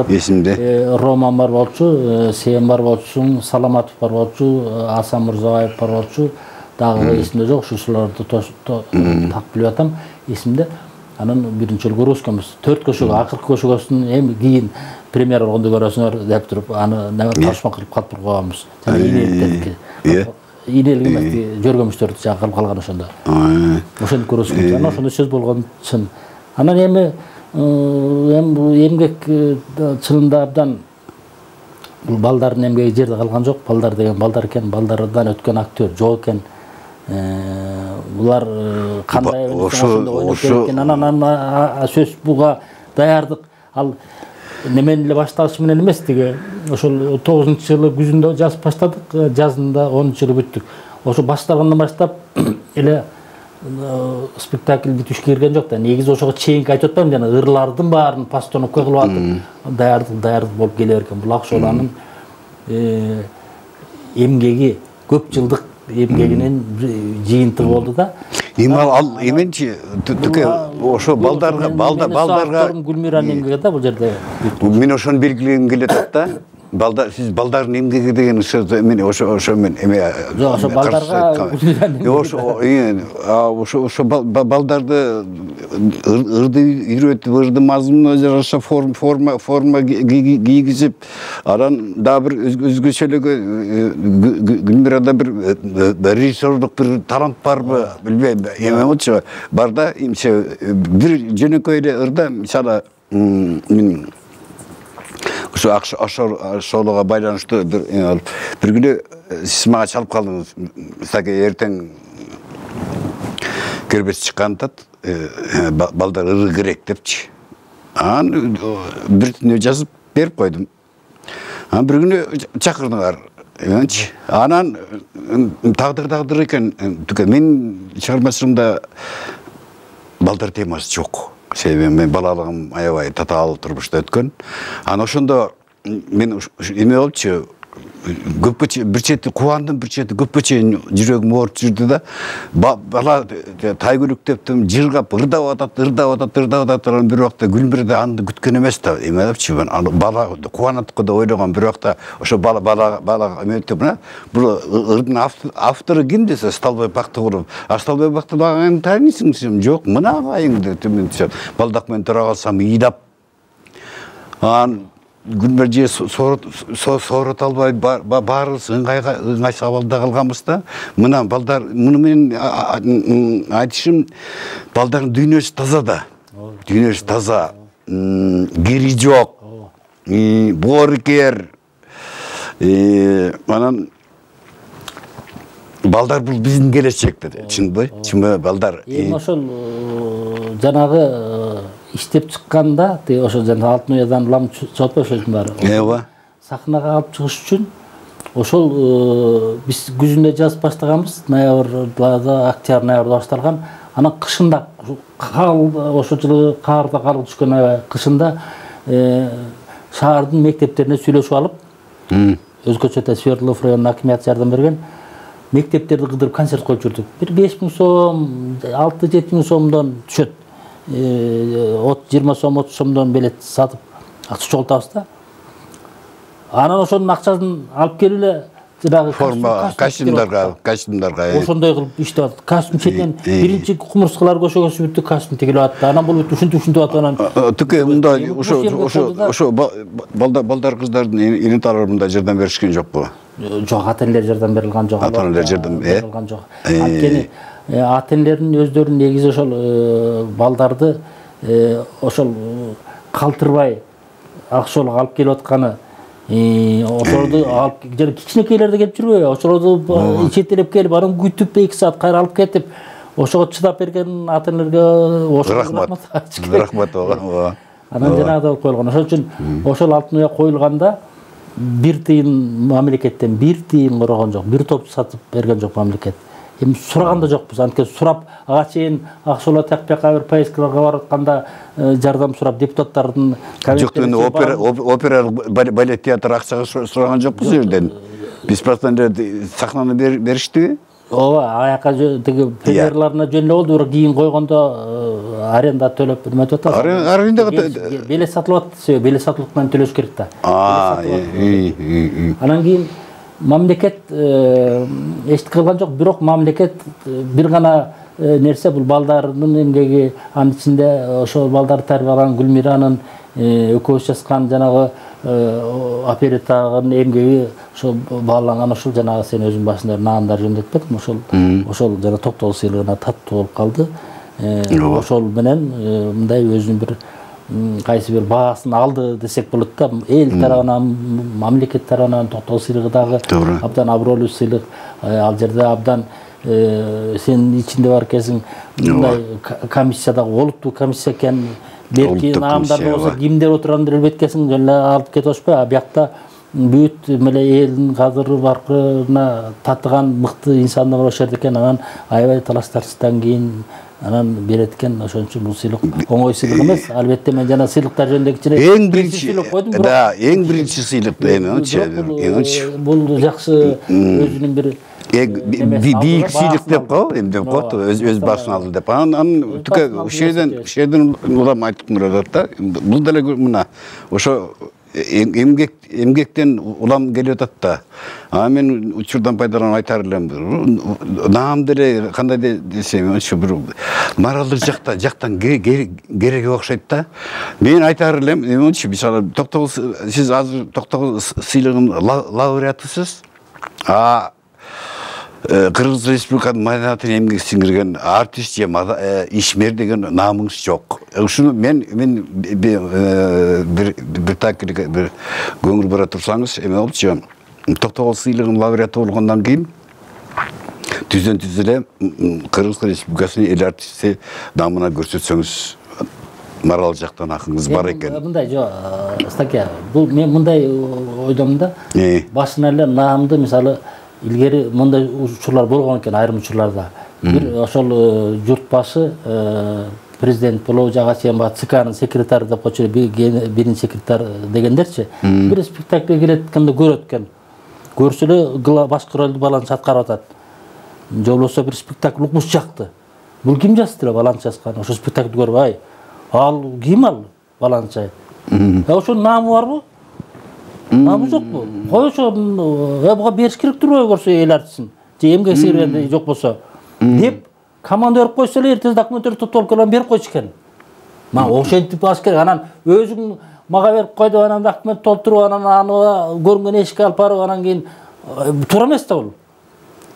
Эсимде. Роман бар болчу, Сен бар болчу, Саламатов бар болчу, Асан Мурзабаев бар болчу. Дагы эсимде жок, ушуларды так билип атам, эсимде. Анан биринчи жолу көрүп өскөнбүз. төрт көшөгө, акыркы көшөгөсүн эми кийин премьера болгондо көрөсүңөр деп туруп, аны ташма кылып калып койгонбуз. Жана инеликтерди. Инелик эмес, жөргөмүштөрдү жагы кылып калган ошондо. Ошону көрүп өскөнбүз. Анан ошондо сөз болгон чын. Анан эми эми эмгек чынында абдан бул балдардын эмгеги жерде калган жок. Балдар деген балдар экен, балдардан өткөн актер жок экен. Булар кандай ойноп келген, анан сөз буга даярдык ал немен эле башталышы менен эмес, тиги ошол тогузунчу жылы күзүндө жазып баштадык, жазында онунчу жылы бүттүк. Ошо башталгандан баштап эле спектакль бүтүшкө кирген жок да. Негизи ошого чейинки айтып атпаймынбы, жана ырлардын баарын постановка кылып атып, даярдык даярдык болуп келе берген. Бул Акшоланын эмгеги, көп жылдык эмгегинин жыйынтыгы болду да. Эми ал эменчи түкө ошо балдарга балдарга Гүлмиранын эмгеги да бул жерде. Мен ошону белгилегим келет да. Балдар, сиз балдардын эмгеги деген сөздү мен ошо ошо мен эме жок, ошо балдарга ошо ошо балдарды ырды үйрөтүп, ырды мазмунуна жараша форма форма кийгизип, анан дагы бир өзгөчөлөгө Гүлмирада бир режиссерлук бир талант барбы билбейм, эме болчу бар да, эмче бир жөнөкөй эле ырда, мисалы мен ошо Акшолого байланыштуу бир бир күнү сиз мага чалып калдыңыз. Саке эртең кербес чыккандат, балдар ыры керек депчи. Анан бир түнү жазып берип койдум. Анан бир күнү чакырдыңар. Эмчи. Анан тагдыр тагдыр экен. Мен чыгармачылыгымда балдар темасы жок. Себеби мен балалыгым аябай татаал турмушта өткөн. Анан ошондо мен эме болчу, көпкө бир чети кубандым, бир чети көпкө чейин жүрөгүм ооруп жүрдү да. Бала тайгүлүктөптүм, жыргап, ырдап атат, ырдап атат, ырдап атат. Анан бир убакта Гүлмирде аны күткөн эмес да. Эме депчи, бала кубанаттыкы да ойлогон, бир убакта ошо бала бала бала эметип, мына бул ырдын автору ким десе, Сталбай Бактыгулов. А Сталбай Бактыгуловду тааныйсың десем, жок, мына агайыңды төмөн десем, балдак менен тура калсам ыйдап. Анан Гүлмир же соорото албай баарыбыз ыңгайсыз абалда калганбыз да. Мына балдар, муну менен айтышым, балдардын дүйнөсү таза да. Дүйнөсү таза, кири жок, боорукер. Анан балдар бул биздин келечек деди. Чынбы? Чынбы балдар? Эми ошол жанагы иштеп чыкканда, ошо жана Алтын уядан лам чыгып ошонун баары. Ооба. Сахнага алып чыгыш үчүн ошол биз күзүндө жазып баштаганбыз, ноябрда, октябрь ноябрда башталган. Анан кышында ошол жылы каарда кар түшкөн кышында шаардын мектептерине сүйлөшүп алып, өзгөчө Свердлов районунун акимияты жардам берген, мектептерди кыдырып концерт коюп жүрдүк. Бир беш миң сом, алты жети миң сомдон түшөт. жыйырма сом, отуз сомдон билет сатып акча чогултабыз да. Анан ошонун акчасын алып келип эле жанагы форма костюмдарга, костюмдарга ошондой кылып иштеп атат. Костюм четен биринчи кумурскалар көшөгөсү бүттү, костюм тигилип атты. Анан бул бүт ушинтип ушинтип атып анан тике мындай ошо ошо ошо балдар балдар кыздардын энеталары мындай жардам беришкен жокпу? Жок, ата-энелер жардам берилген жок. Ата-энелер жардам берилген жок. Анткени ата-энелердин өздөрүнүн негизи ошол балдарды ошол калтырбай Акшолго алып келип атканы ошолорду алып жана кичинекейлер да келип жүрбөйбү, ошолорду четтелеп келип анан күтүп эки саат кайра алып кетип ошого чыдап берген ата энелерге рахмат. Рахмат ооба. Анан жанагыдай болуп коюлган. Ошол үчүн ошол алтын уя коюлганда бир тыйын мамлекеттен бир тыйын корогон жок, бир топ сатып берген жок мамлекет. Эми сураган да жокпуз. Анткени сурап ага чейин Аксула Такбекова бир поездкаларга барып атканда жардам сурап депутаттардын жок, опера опера балет театр акчага сураган жокпуз жерден. Бесплатно сахнаны бериштиби? Ооба, аяка тиги премьерларына жөн эле болду, бирок кийин койгондо аренда төлөп эметип атат. Аренда билет сатылып атат, билет сатылып менен төлөш керек да. Анан кийин мамлекет эчтеке кылган жок, бирок мамлекет бир гана нерсе бул балдардын эмгеги, анын ичинде ошол балдарды тарбиялаган Гүлмиранын экөөбүз жазган жанагы опереттагы эмгеги ошол бааланган, ошол жанагы сен өзүң башында наандар жөндөтпөдүң, ошол ошол жана Токтогул сыйлыгына таттуу болуп калды. Ошол менен мындай өзүнүн бир кайсы бир баасын алды десек болот да. Эл тарабынан, мамлекет тарабынан Токтогул сыйлыгы дагы абдан абройлуу сыйлык. Ал жерде абдан сен ичинде бар экенсиң, мындай комиссияда олуттуу комиссия экен. Белки наамдарда болсо кимдер отургандыр элбеткесиң жөн эле алып кетип атышпайбы? А биякта бүт эле элдин кадыры баркына татыган мыкты инсандар бар ошол жерде экен. Анан аябай талаш тартыштан кийин анан берет экен. Ошон үчүн бул сыйлык оңой сыйлык эмес. Албетте мен жана сыйлыктар жөнүндө кичине эң биринчи да, эң биринчи сыйлык эми бул жакшы өзүнүн бир бийик сыйлык деп коебу, эмдеп коет, өз башына алды деп. Анан тике ушерден ушерден улам айтып турат да. Бул деле мына ошо эмгек эмгектен улам келип атат да. А мен учурдан пайдаланып айтар элем. Наам деле кандай десем, ошо бир моралдык жакта жактан кереги окшойт да. Мен айтар элем, эмчи мисалы Токтогул, сиз азыр Токтогул сыйлыгынын лауреатысыз. А Кыргыз Республикасынын маданиятына эмгек сиңирген артист же ишмер деген наамыңыз жок. Ушуну мен мен бир бир так бир көңүл бура турсаңыз, эме болчу. Токтогул сыйлыгынын лауреаты болгондон кийин түздөн түз эле Кыргыз Республикасынын эл артисти наамына көрсөтсөңүз морал жактан акыңыз бар экен. Мындай жок, Стаке, бул мен мындай ойдомун да. Башынан эле наамды мисалы илгери мындай учурлар болгон экен айрым учурларда. Бир ошол журт башы президент болобу жага чейин ЦКнын секретары деп койчу, биринчи секретарь дегендерчи, бир спектакльге келет эткенде көрөт экен. Көрсө эле башкы ролду баланча аткарып атат. Же болбосо бир спектакль укмуш жакты. Бул ким жазды эле баланча жазган? Ошо спектакльди көрүп, ай, ал ким ал баланча? Ошо наамы барбы? Наамы жокпу? Кой ошо буга бериш керек турбайбы көрсө эл артистин? Же эмгек сиңиргенде жок болсо деп команда берип койсо эле эртең документтер топтолуп келип берип койчу экен. Мага ошентип баш керек. Анан өзүң мага берип койду, анан документ толтуруп, анан аны көрүнгөн эшикке алып барып, анан кийин туура эмес да бул.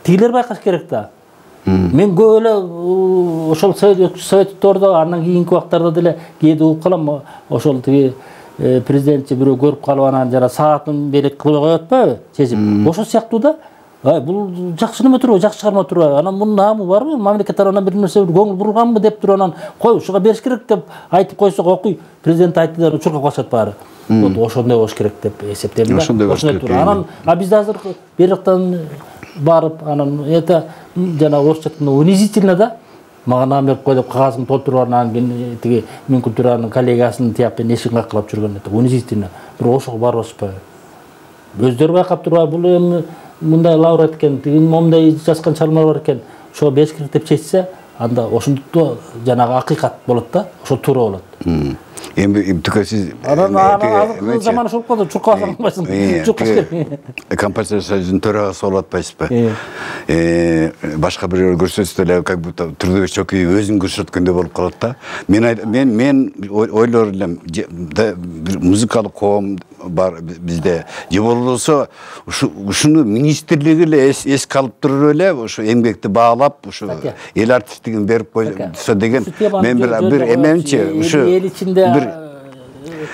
Тигилер байкаш керек да. Мен көп эле ошол советтөрдө андан кийинки убактарда деле кээде угуп калам, ошол тиги президентчи бирөө көрүп калып анан жана саатын белек кылып коюп атпайбы, чечип. Ошол сыяктуу да. Ай, бул жакшы неме турбайбы, жакшы чыгарма турбайбы? Анан мунун наамы барбы? Мамлекет тарабынан бир нерсе көңүл бурулганбы деп туруп анан кой, ушуга бериш керек деп айтып койсок, окуй, президент айтты деп учурга калышат баары. Вот ошондой болуш керек деп эсептейм да. Ошондой болуш керек. Анан а биз азыр бер жактан барып, анан это жана орусча айтканда унизительно да. Мага наам берип кой деп кагазын толтуруп анан кийин тиги Мен культуранын коллегасынын тияп менен эшигин какылап жүргөн это унизительно. Бирок ошого барбашпайбы? Өздөрү байкап турбайбы, бул эми мындай лауреат экен, тиги момундай жазган чалмалар бар экен, ошого бериш керек деп чечсе, анда ошондо жанагы акыйкат болот да, ошо туура болот. Эми тике сиз анан азыркы заман ошол болду, чуркап албайсың, чуркаш керек. Композитор союзунун төрагасы болуп атпайсызбы? Э, башка бирөө көрсөтсө деле как будто Трудовик Чокуев өзүн көрсөткөндөй болуп калат да. Мен мен мен ойлор элем, бир музыкалык коом бар бизде. Же болбосо ушуну министрлиги эле эске алып туруп эле ошо эмгекти баалап, ошо эл артисттигин берип койсо деген мен бир бир эмемчи, ушу эл ичинде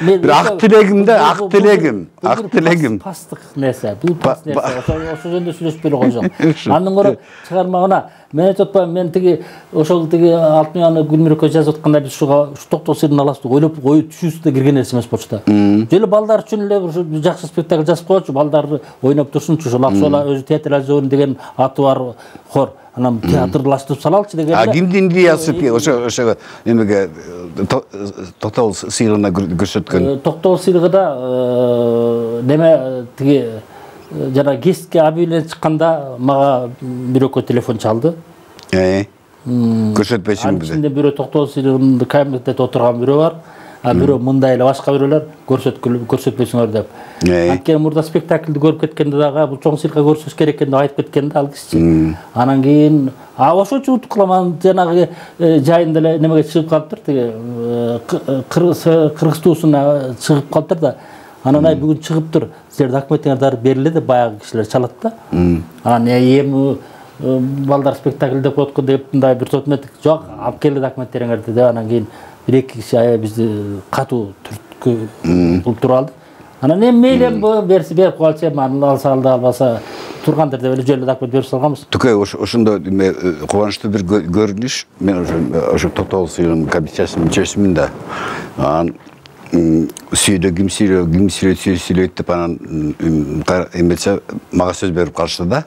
бир ак тилегим да, ак тилегим, ак тилегим. Пастык нерсе, бул паст нерсе. Ошо жөнүндө сүйлөшүп эле койсоң. Андан көрө чыгармагына мен айтып атпаймын, мен тиги ошол тиги Алтынбек Гүлмүрөккө жазып атканда биз ушуга ушу токтоо сыйрын аласыз деп ойлоп ой түшүүбүздө кирген нерсе эмес болчу да. Жөлө балдар үчүн эле ушу жакшы спектакль жазып койчу, балдар ойноп турсунчу, ушул Аксуала өзү театрализован деген аты бар хор. Анан театрлаштырып салалычы деген. А кимдин идеясы ошо ошо эмеге токтоо сыйрыгына көрсөткөн? Токтоо сыйрыгыда неме тиги жана гестке объявление чыкканда мага бирөккө телефон чалды. Э. Көрсөтпөйсүңбү? Анын ичинде бирөө токтоо сыйрыгында комитетте отурган бирөө бар. А бирөө мындай эле башка бирөөлөр көрсөтпөйсүңөр деп. Анткени мурда спектакльди көрүп кеткенде дагы бул чоң циркка көрсөтүш керек экен деп айтып кеткен да ал киши. Анан кийин а ошочу утуп калам, жанагы жайында эле немеге чыгып калыптыр, тиги Кыргыз туусуна чыгып калыптыр да. Анан ай бүгүн чыгыптыр, силердин документиңер бериле деп баягы кишилер чалат да. Анан эми балдар спектакль деп коткон деп мындай бир сотмет жок, алып келе документтериңерди деп анан кийин бир эки киши аябай бизди катуу түрткү бул туруп алды. Анан эми мейли берси берип коелучу, эми алса алды, албаса тургандыр деп эле жөн эле документ берип салганбыз. Түкөй ошондо кубанычтуу бир көрүнүш. Мен ошо токтоо сыйрыгынын комиссиясынын мүчөсүмүн да. Анан сүйдө ким сүйлөйт, ким сүйлөйт, сүйлөйт деп анан эмесе мага сөз берип калышты да.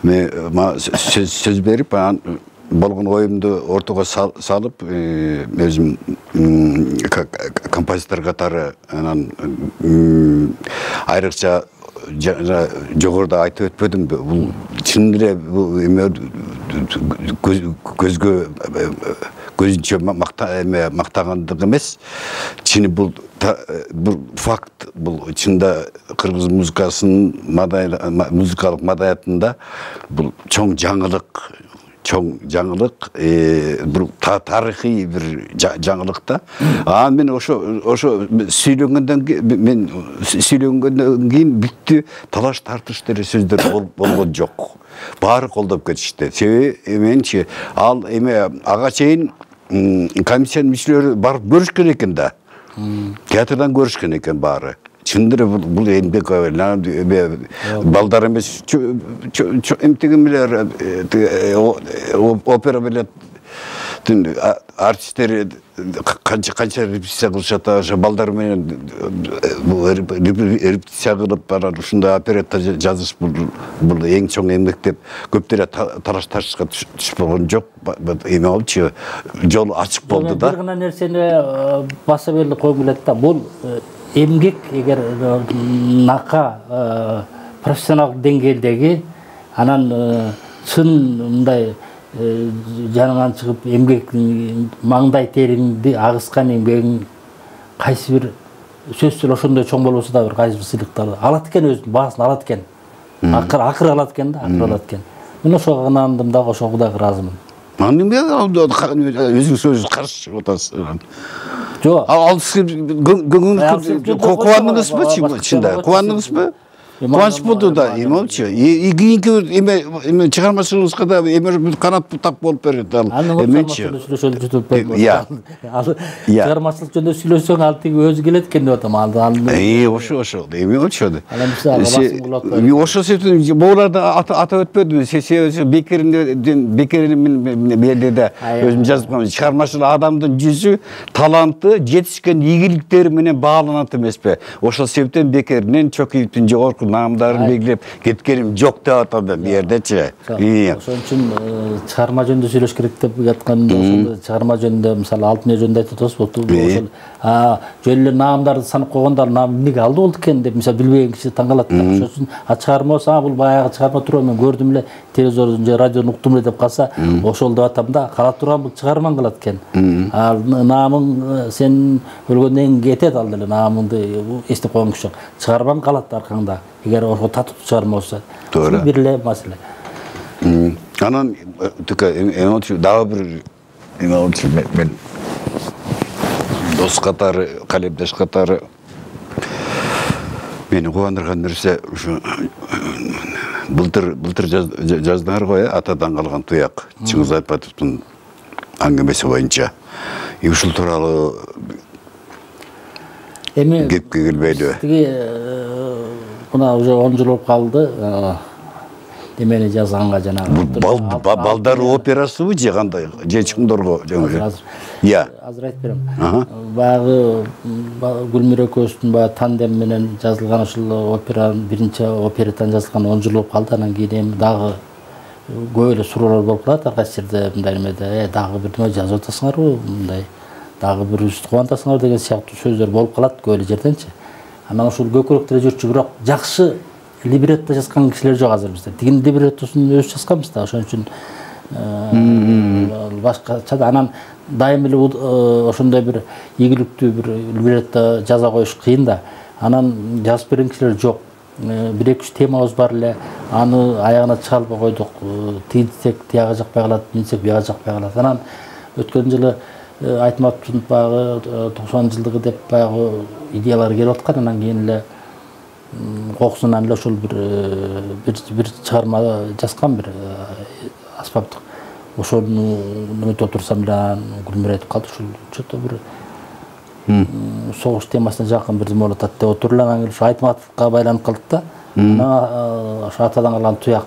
Мен сөз берип анан болгон оюмду ортого салып, өзүм композитор катары анан айрыкча жогоруда айтып өтпөдүмбү? Бул чын эле бул эме көзгө көзүнчө мактагандык эмес. Чыны бул бул факт, бул чында кыргыз музыкасынын музыкалык маданиятында бул чоң жаңылык, чоң жаңылык, бир тарыхый бир жаңылык да. Анан мен ошо ошо сүйлөнгөндөн кийин мен сүйлөнгөндөн кийин бүттү, талаш тартыш деле сөздөр болгон жок. Баары колдоп кетишти. Себеби менчи ал эме ага чейин комиссиянын мүчөлөрү барып көрүшкөн экен да. Театрдан көрүшкөн экен баары. Чындыр бул эмгек балдар эмес, эмтигимилер опера билет артисттер канча канча репетиция кылышат, ошо балдар менен репетиция кылып анан ушундай оперетта жазыш бул эң чоң эмгек деп көптөр талаш тартышка түшүп болгон жок. Эме болчу, жол ачык болду да. Бир гана нерсени баса берилип койгум келет да. Бул эмгек эгер нака профессионалдык деңгээлдеги анан чын мындай жанынан чыгып эмгек маңдай териңди агыскан эмгегиң кайсы бир сөзсүз ошондой чоң болбосо да бир кайсы бир сыйлыктарды алат экен, өзүнүн баасын алат экен. Акыр акыр алат экен да, акыр алат экен. Мен ошого ынандым да, ошого Кудайга ыраазымын. Анын өзүңүз өзүңүз каршы чыгып атасыз. Жок. Ал көңүлүңүз кубандыңызбы чында? Кубандыңызбы? Кубаныч болду да, эме болчу. Кийинки эме эме чыгармачылыгыңызга да эме канат бутак болуп берет ал. Эменчи. Чыгармачылык жөнүндө сүйлөсөң ал тиги өзү келет экен деп атам. Ал Э, ошо ошо. Эме болчу. Ошо себептен буларды атап өтпөдүм. Себеби Бекердин Бекердин белде өзүм жазып койгом. Чыгармачыл адамдын жүзү, таланты, жетишкен ийгиликтери менен бааланат эмеспи? Ошол себептен Бекердин Чокиевдин жогорку наамдарын белгилеп кеткеним жок деп атам мен бу жердечи. Ошон үчүн чыгарма жөнүндө сүйлөш керек деп жатканда ошол чыгарма жөнүндө мисалы Алтынбек жөнүндө айтып атабыз. Ошол а жөн эле наамдарды санап койгондо наам эмнеге алды болду экен деп мисалы билбеген киши таң калат да. Ошон үчүн а чыгарма болсо бул баягы чыгарма турат, мен көрдүм эле, телевизордон же радиодон уктум эле деп калса, ошол деп атам да, кала турган бул чыгармаң калат экен. А наамың сен өлгөндөн кийин кетет, ал деле наамыңды эстеп койгон киши жок. Чыгармаң калат аркаңда. Эгер ошо татып чыгарма болсо. Туура. Бир эле маселе. Анан тыка эме дагы бир эме болчу, мен дос катары, калемдеш катары мени кубандырган нерсе ушу былтыр былтыр жаздыңар го, атадан калган туяк, Чыңгыз Айтбатовдун аңгемеси боюнча. Ушул тууралуу эми кепке келбейди. Тиги мына уже он жыл болуп калды. Демени жазганга жанагы балдар операсыбы же кандай? Же чыңдорго жаңы. Иә. Азыр айтып берем. Баягы Гүлмира экөөбүздүн баягы тандем менен жазылган ушул опера, биринчи опереттан жазылган он жыл болуп калды. Анан кийин эми дагы көп эле суроолор болуп калат ар кайсы жерде мындай эмеде. Э дагы бирдеме жазып атасыңарбы? Мындай дагы бирибизди кубантасыңар деген сыяктуу сөздөр болуп калат көп эле жерденчи. Анан ушул көкүрөктө эле жүрчү, бирок жакшы либретто жазган кишилер жок азыр бизде. Тигин либреттосун өзү жазганбыз да, ошон үчүн башкача да. Анан дайым эле ошондой бир ийгиликтүү бир либретто жаза коюш кыйын да. Анан жазып берген кишилер жок. Бир эки үч темабыз бар эле, аны аягына чыга албай койдук. Тигинсек тияга жакпай калат, минсек бияга жакпай калат. Анан өткөн жылы Айтматовдун баягы токсон жылдыгы деп баягы идеялар келип аткан. Анан кийин эле кокусунан эле ошол бир бир чыгарма жазган, бир аспаптык. Ошону неметип отурсам эле Гүлмира айтып калды, ушул чото бир согуш темасына жакын бирдеме болуп атат деп отуруп эле. Анан келип ушу Айтматовго байланып калдык да. Анан ошо атадан калган туяк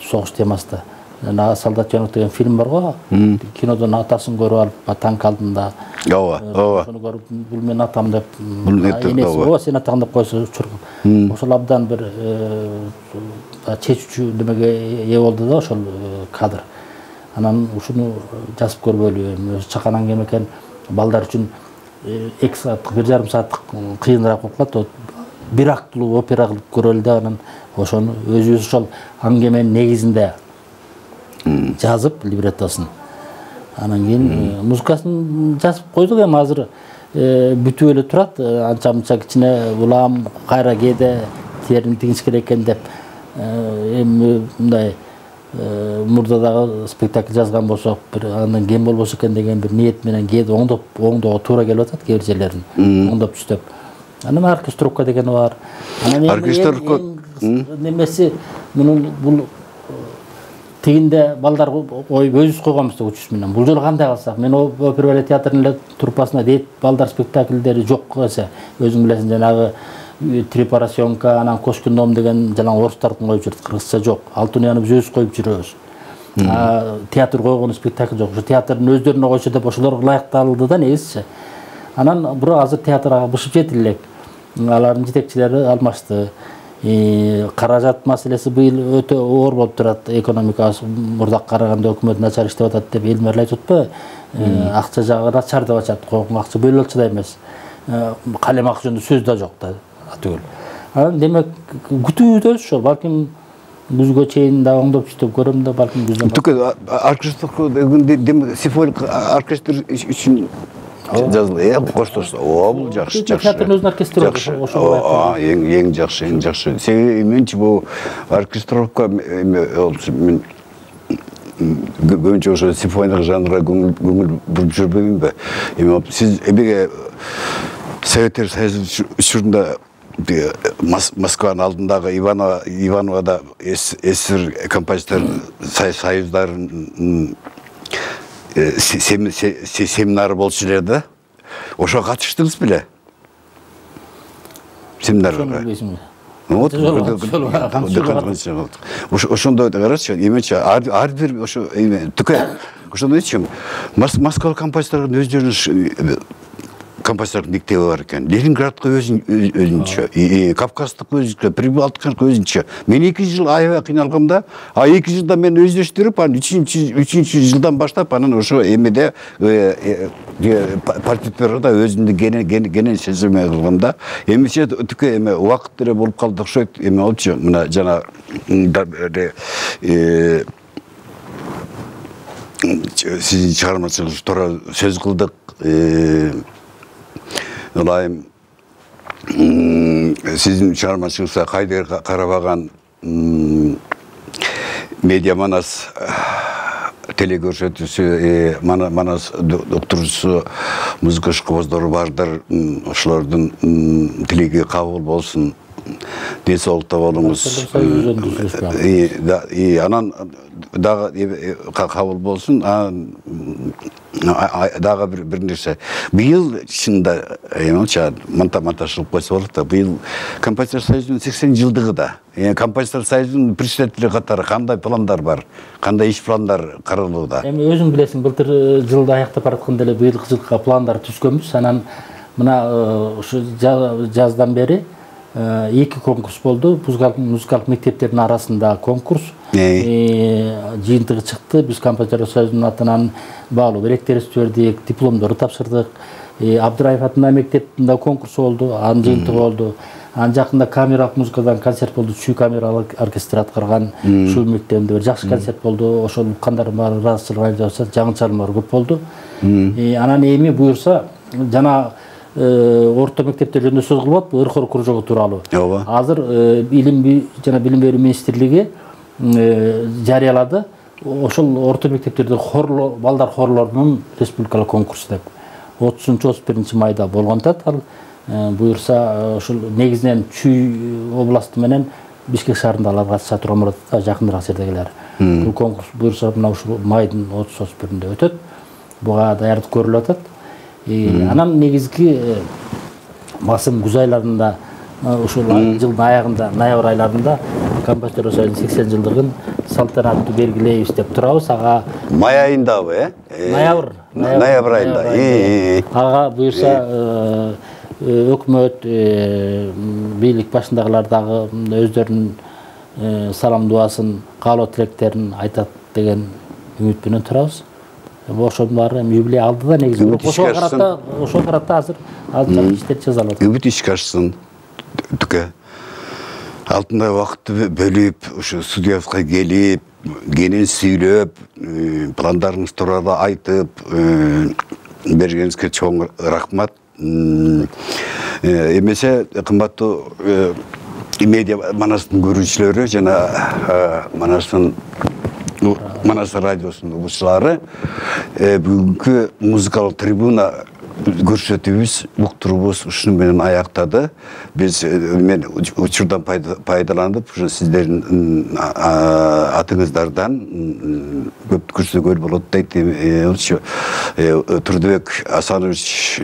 согуш темасында. Жана Солдат жөнөк деген фильм бар го. Кинодон атасын көрүп алып, танк алдында. Ооба, ооба. Ошону көрүп, бул мен атам деп, энеси ооба, сен атаң деп койсо чургуп. Ошол абдан бир чечүүчү немеге ээ болду да ошол кадр. Анан ушуну жазып көрбөлү, өзү чаканан кем экен, балдар үчүн эки сааттык, бир жарым сааттык кыйыныраак болуп калат. Бир актылуу опера кылып көрөлү да, анан ошону өзүбүз ошол аңгеменин негизинде жазып либреттосун. Анан кийин музыкасын жазып койдук. Эми азыр бүтүп эле турат. Анча мынча кичине улам кайра кээде терин тигиш керек экен деп эми мындай мурда дагы спектакль жазган болсок, бир андан кем болбосо экен деген бир ниет менен кээде оңдоп оңдоого туура келип атат кээ бир жерлерин. Оңдоп түздөп. Анан оркестровка дегени бар. Анан оркестровка немеси мунун бул тигинде балдар коюп өзүбүз койгонбуз да учуш менен. Бул жолу кандай кылсак? Мен опера балет театрынын эле труппасына дейт балдар спектакльдери жок эсе. Өзүң билесиң, жанагы Трипарасьонка, анан Кошкин дом деген жана орустардын коюп жүрөт, кыргызча жок. Алтунияны биз өзүбүз коюп жүрөбүз. Театр койгон спектакль жок. Ушу театрдын өздөрүнө койсо деп ошолор ылайыкталды да негизичи. Анан бирок азыр театрга бышып жетил элек. Алардын жетекчилери алмашты. Каражат маселеси быйыл өтө оор болуп турат. Экономикасы мурдак караганда өкмөт начар иштеп атат деп элмер айтып атпайбы? Акча жагы начар деп атышат. Койгон акча бөлүнчү да эмес. Калем акча жөнүндө сөз да жок да атүгүл. Анан демек күтүүбүз ошол. Балким күзгө чейин да оңдоп иштеп көрөм да, балким күздөн. Түкө оркестр дегенде симфоник оркестр үчүн жазылды. Э, коштош. О, бул жакшы, жакшы. Театрдын өзүнүн оркестри ошол. Эң эң жакшы, эң жакшы. Себеби менчи бул оркестровка мен көбүнчө ошо симфоник жанрга көңүл буруп жүрбөймүнбү? Эми сиз эмеге Советтер Союзу учурунда Москванын алдындагы Иванова Ивановада эсер композитор союздарын семинары болчу эле да. Ошого катыштыңыз беле? Семинарга. Вот, ошондой карачы, эмечи ар бир ошо түкө ошондой чым Москва композитордун өздөрүнүн композитордун мектеби бар экен. Ленинградка өзүнчө, Кавказдык өзүнчө, Прибалтикага өзүнчө. Мен эки жыл аябай кыйналгамда, а эки жылда мен өздөштүрүп, анан үчүнчү жылдан баштап анан ошо эмеде партитурада өзүмдү кенен сезиме кылганда, эмесе түкө эме убакыт эле болуп калды окшойт. Эме болчу, мына жана сиздин чыгармачылыгыңыз туура сөз кылдык. Ылайым сиздин чыгармачылыгыңызга кайдыр карабаган медиа Манас телекөрсөтүүсү, Манас доктурусу, музыка ишкобоздору бардыр, ошолордун тилеги кабыл болсун. ден соолукта болуңуз. Анан дагы кабыл болсун. Дагы бир нерсе. Быйыл чында монтаждалып койсо болот да. Быйыл Композитор союзунун сексен жылдыгы да. Композитор союзунун председатели катары кандай пландар бар? Кандай иш пландар каралууда? Эми өзүң билесиң, былтыр жылды аяктап баратканда эле быйылкы жылга пландар түзгөнбүз. Анан мына ушу жаздан бери эки конкурс болду. Музыкалык мектептердин арасында конкурс жыйынтыгы чыкты. Биз Композитор союзунун атынан баалуу белектерибизди бердик, дипломдорду тапшырдык. Абдыраев атындагы мектептин конкурсу болду, анын жыйынтыгы болду. Анын жакында камералык музыкадан концерт болду, Чүй камералык оркестр аткарган Чүй мектебинде бир жакшы концерт болду. Ошол уккандар баары ыраазычылык айтышат, жаңы чыгармалар көп болду. Анан эми буюрса жана орто мектептер жөнүндө сөз кылып атпы, ыркор кружогу тууралуу. Азыр илим жана билим берүү министрлиги жарыялады. Ошол орто мектептерде хорлор, балдар хорлорунун республикалык конкурсу деп. отузунчу отуз биринчи майда болгонтат ал. Буюрса ошол негизинен Чүй областы менен Бишкек шаарында алар катышат, Ромордо жакыныраак жердегилер. Бул конкурс буюрса мына ушул майдын отуз отуз биринде өтөт. Буга даярдык көрүлүп атат. Анан негизги басым күз айларында, ушул жылдын аягында, ноябрь айларында Композитор союзунун сексен жылдыгын салтанаттуу белгилейбиз деп турабыз. Ага май айындабы, э? Ноябрь. Ноябрь айында. Ага буюрса өкмөт, бийлик башындагылар дагы өздөрүнүн салам дубасын, каалоо тилектерин айтат деген үмүт менен турабыз. Ошонун баары юбилей алдыда негизи. Ошого карата, ошого карата азыр алдын иштер жасалат. Үмүт ишке ашсын. Түкө. Алтындай вакытты бөлүп, ушу студиябызга келип, кенен сүйлөп, пландарыңыз тууралуу айтып, бергениңизге чоң рахмат. Эмесе кымбаттуу медиа Манастын көрүүчүлөрү жана Манастын Манас радиосунун угуучулары, бүгүнкү музыкалык трибуна көрсөтүүбүз, уктуруубуз ушуну менен аяктады. Биз мен учурдан пайдаланып, ушу сиздердин атыңыздардан көп көрсөтүүгө болот дейт. Ошо Турдубек Асанович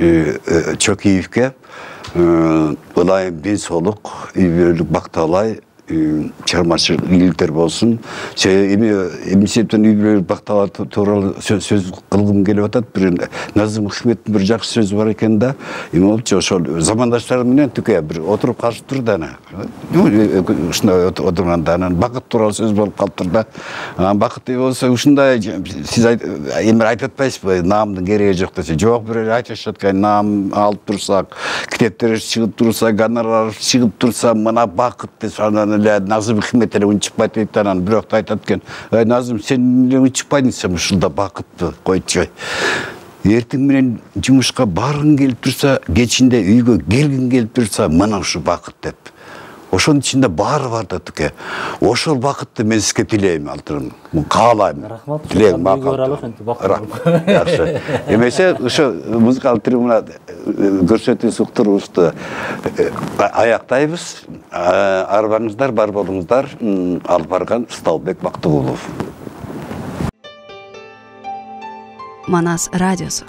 Чокиевке ылайым ден соолук, үй бүлөлүк бакталай, чыгармачылык ийгиликтер болсун. Эми эмсептен үй бүлөлүк бакталар тууралуу сөз кылгым келип атат. Бир Назым Хикметтин бир жакшы сөзү бар экен да. Эми болчу ошол замандаштар менен түкө бир отуруп калышыптыр да ана. Ушундай отурганда анан бакыт тууралуу сөз болуп калыптыр да. Анан бакыт болсо ушундай сиз эми айтып атпайсызбы, наамдын кереги жок десе. Жок, бирөө айтышат экен, наам алып турсак, китептер чыгып турса, гонорар чыгып турса, мына бакыт деп анан Назым Хикмет эле унчукпайт дейт. Анан бирок айтат экен, "Ай Назым, сен эле унчукпайсың, ушунда бакытты койчу. Эртең менен жумушка баргың келип турса, кечинде үйгө келгиң келип турса, мына ушу бакыт" деп. Ошонун ичинде баары бар да түкө. Ошол бакытты мен сизге тилейм, алтырым. Каалайм. Рахмат. Тилейм макал. Жакшы. Эмесе ошо музыкалык трибуна көрсөтүүсү уктуруубузду аяктайбыз. Арбаңыздар, бар болуңуздар. Алып барган Сталбек Бактыгулов. Манас радиосу.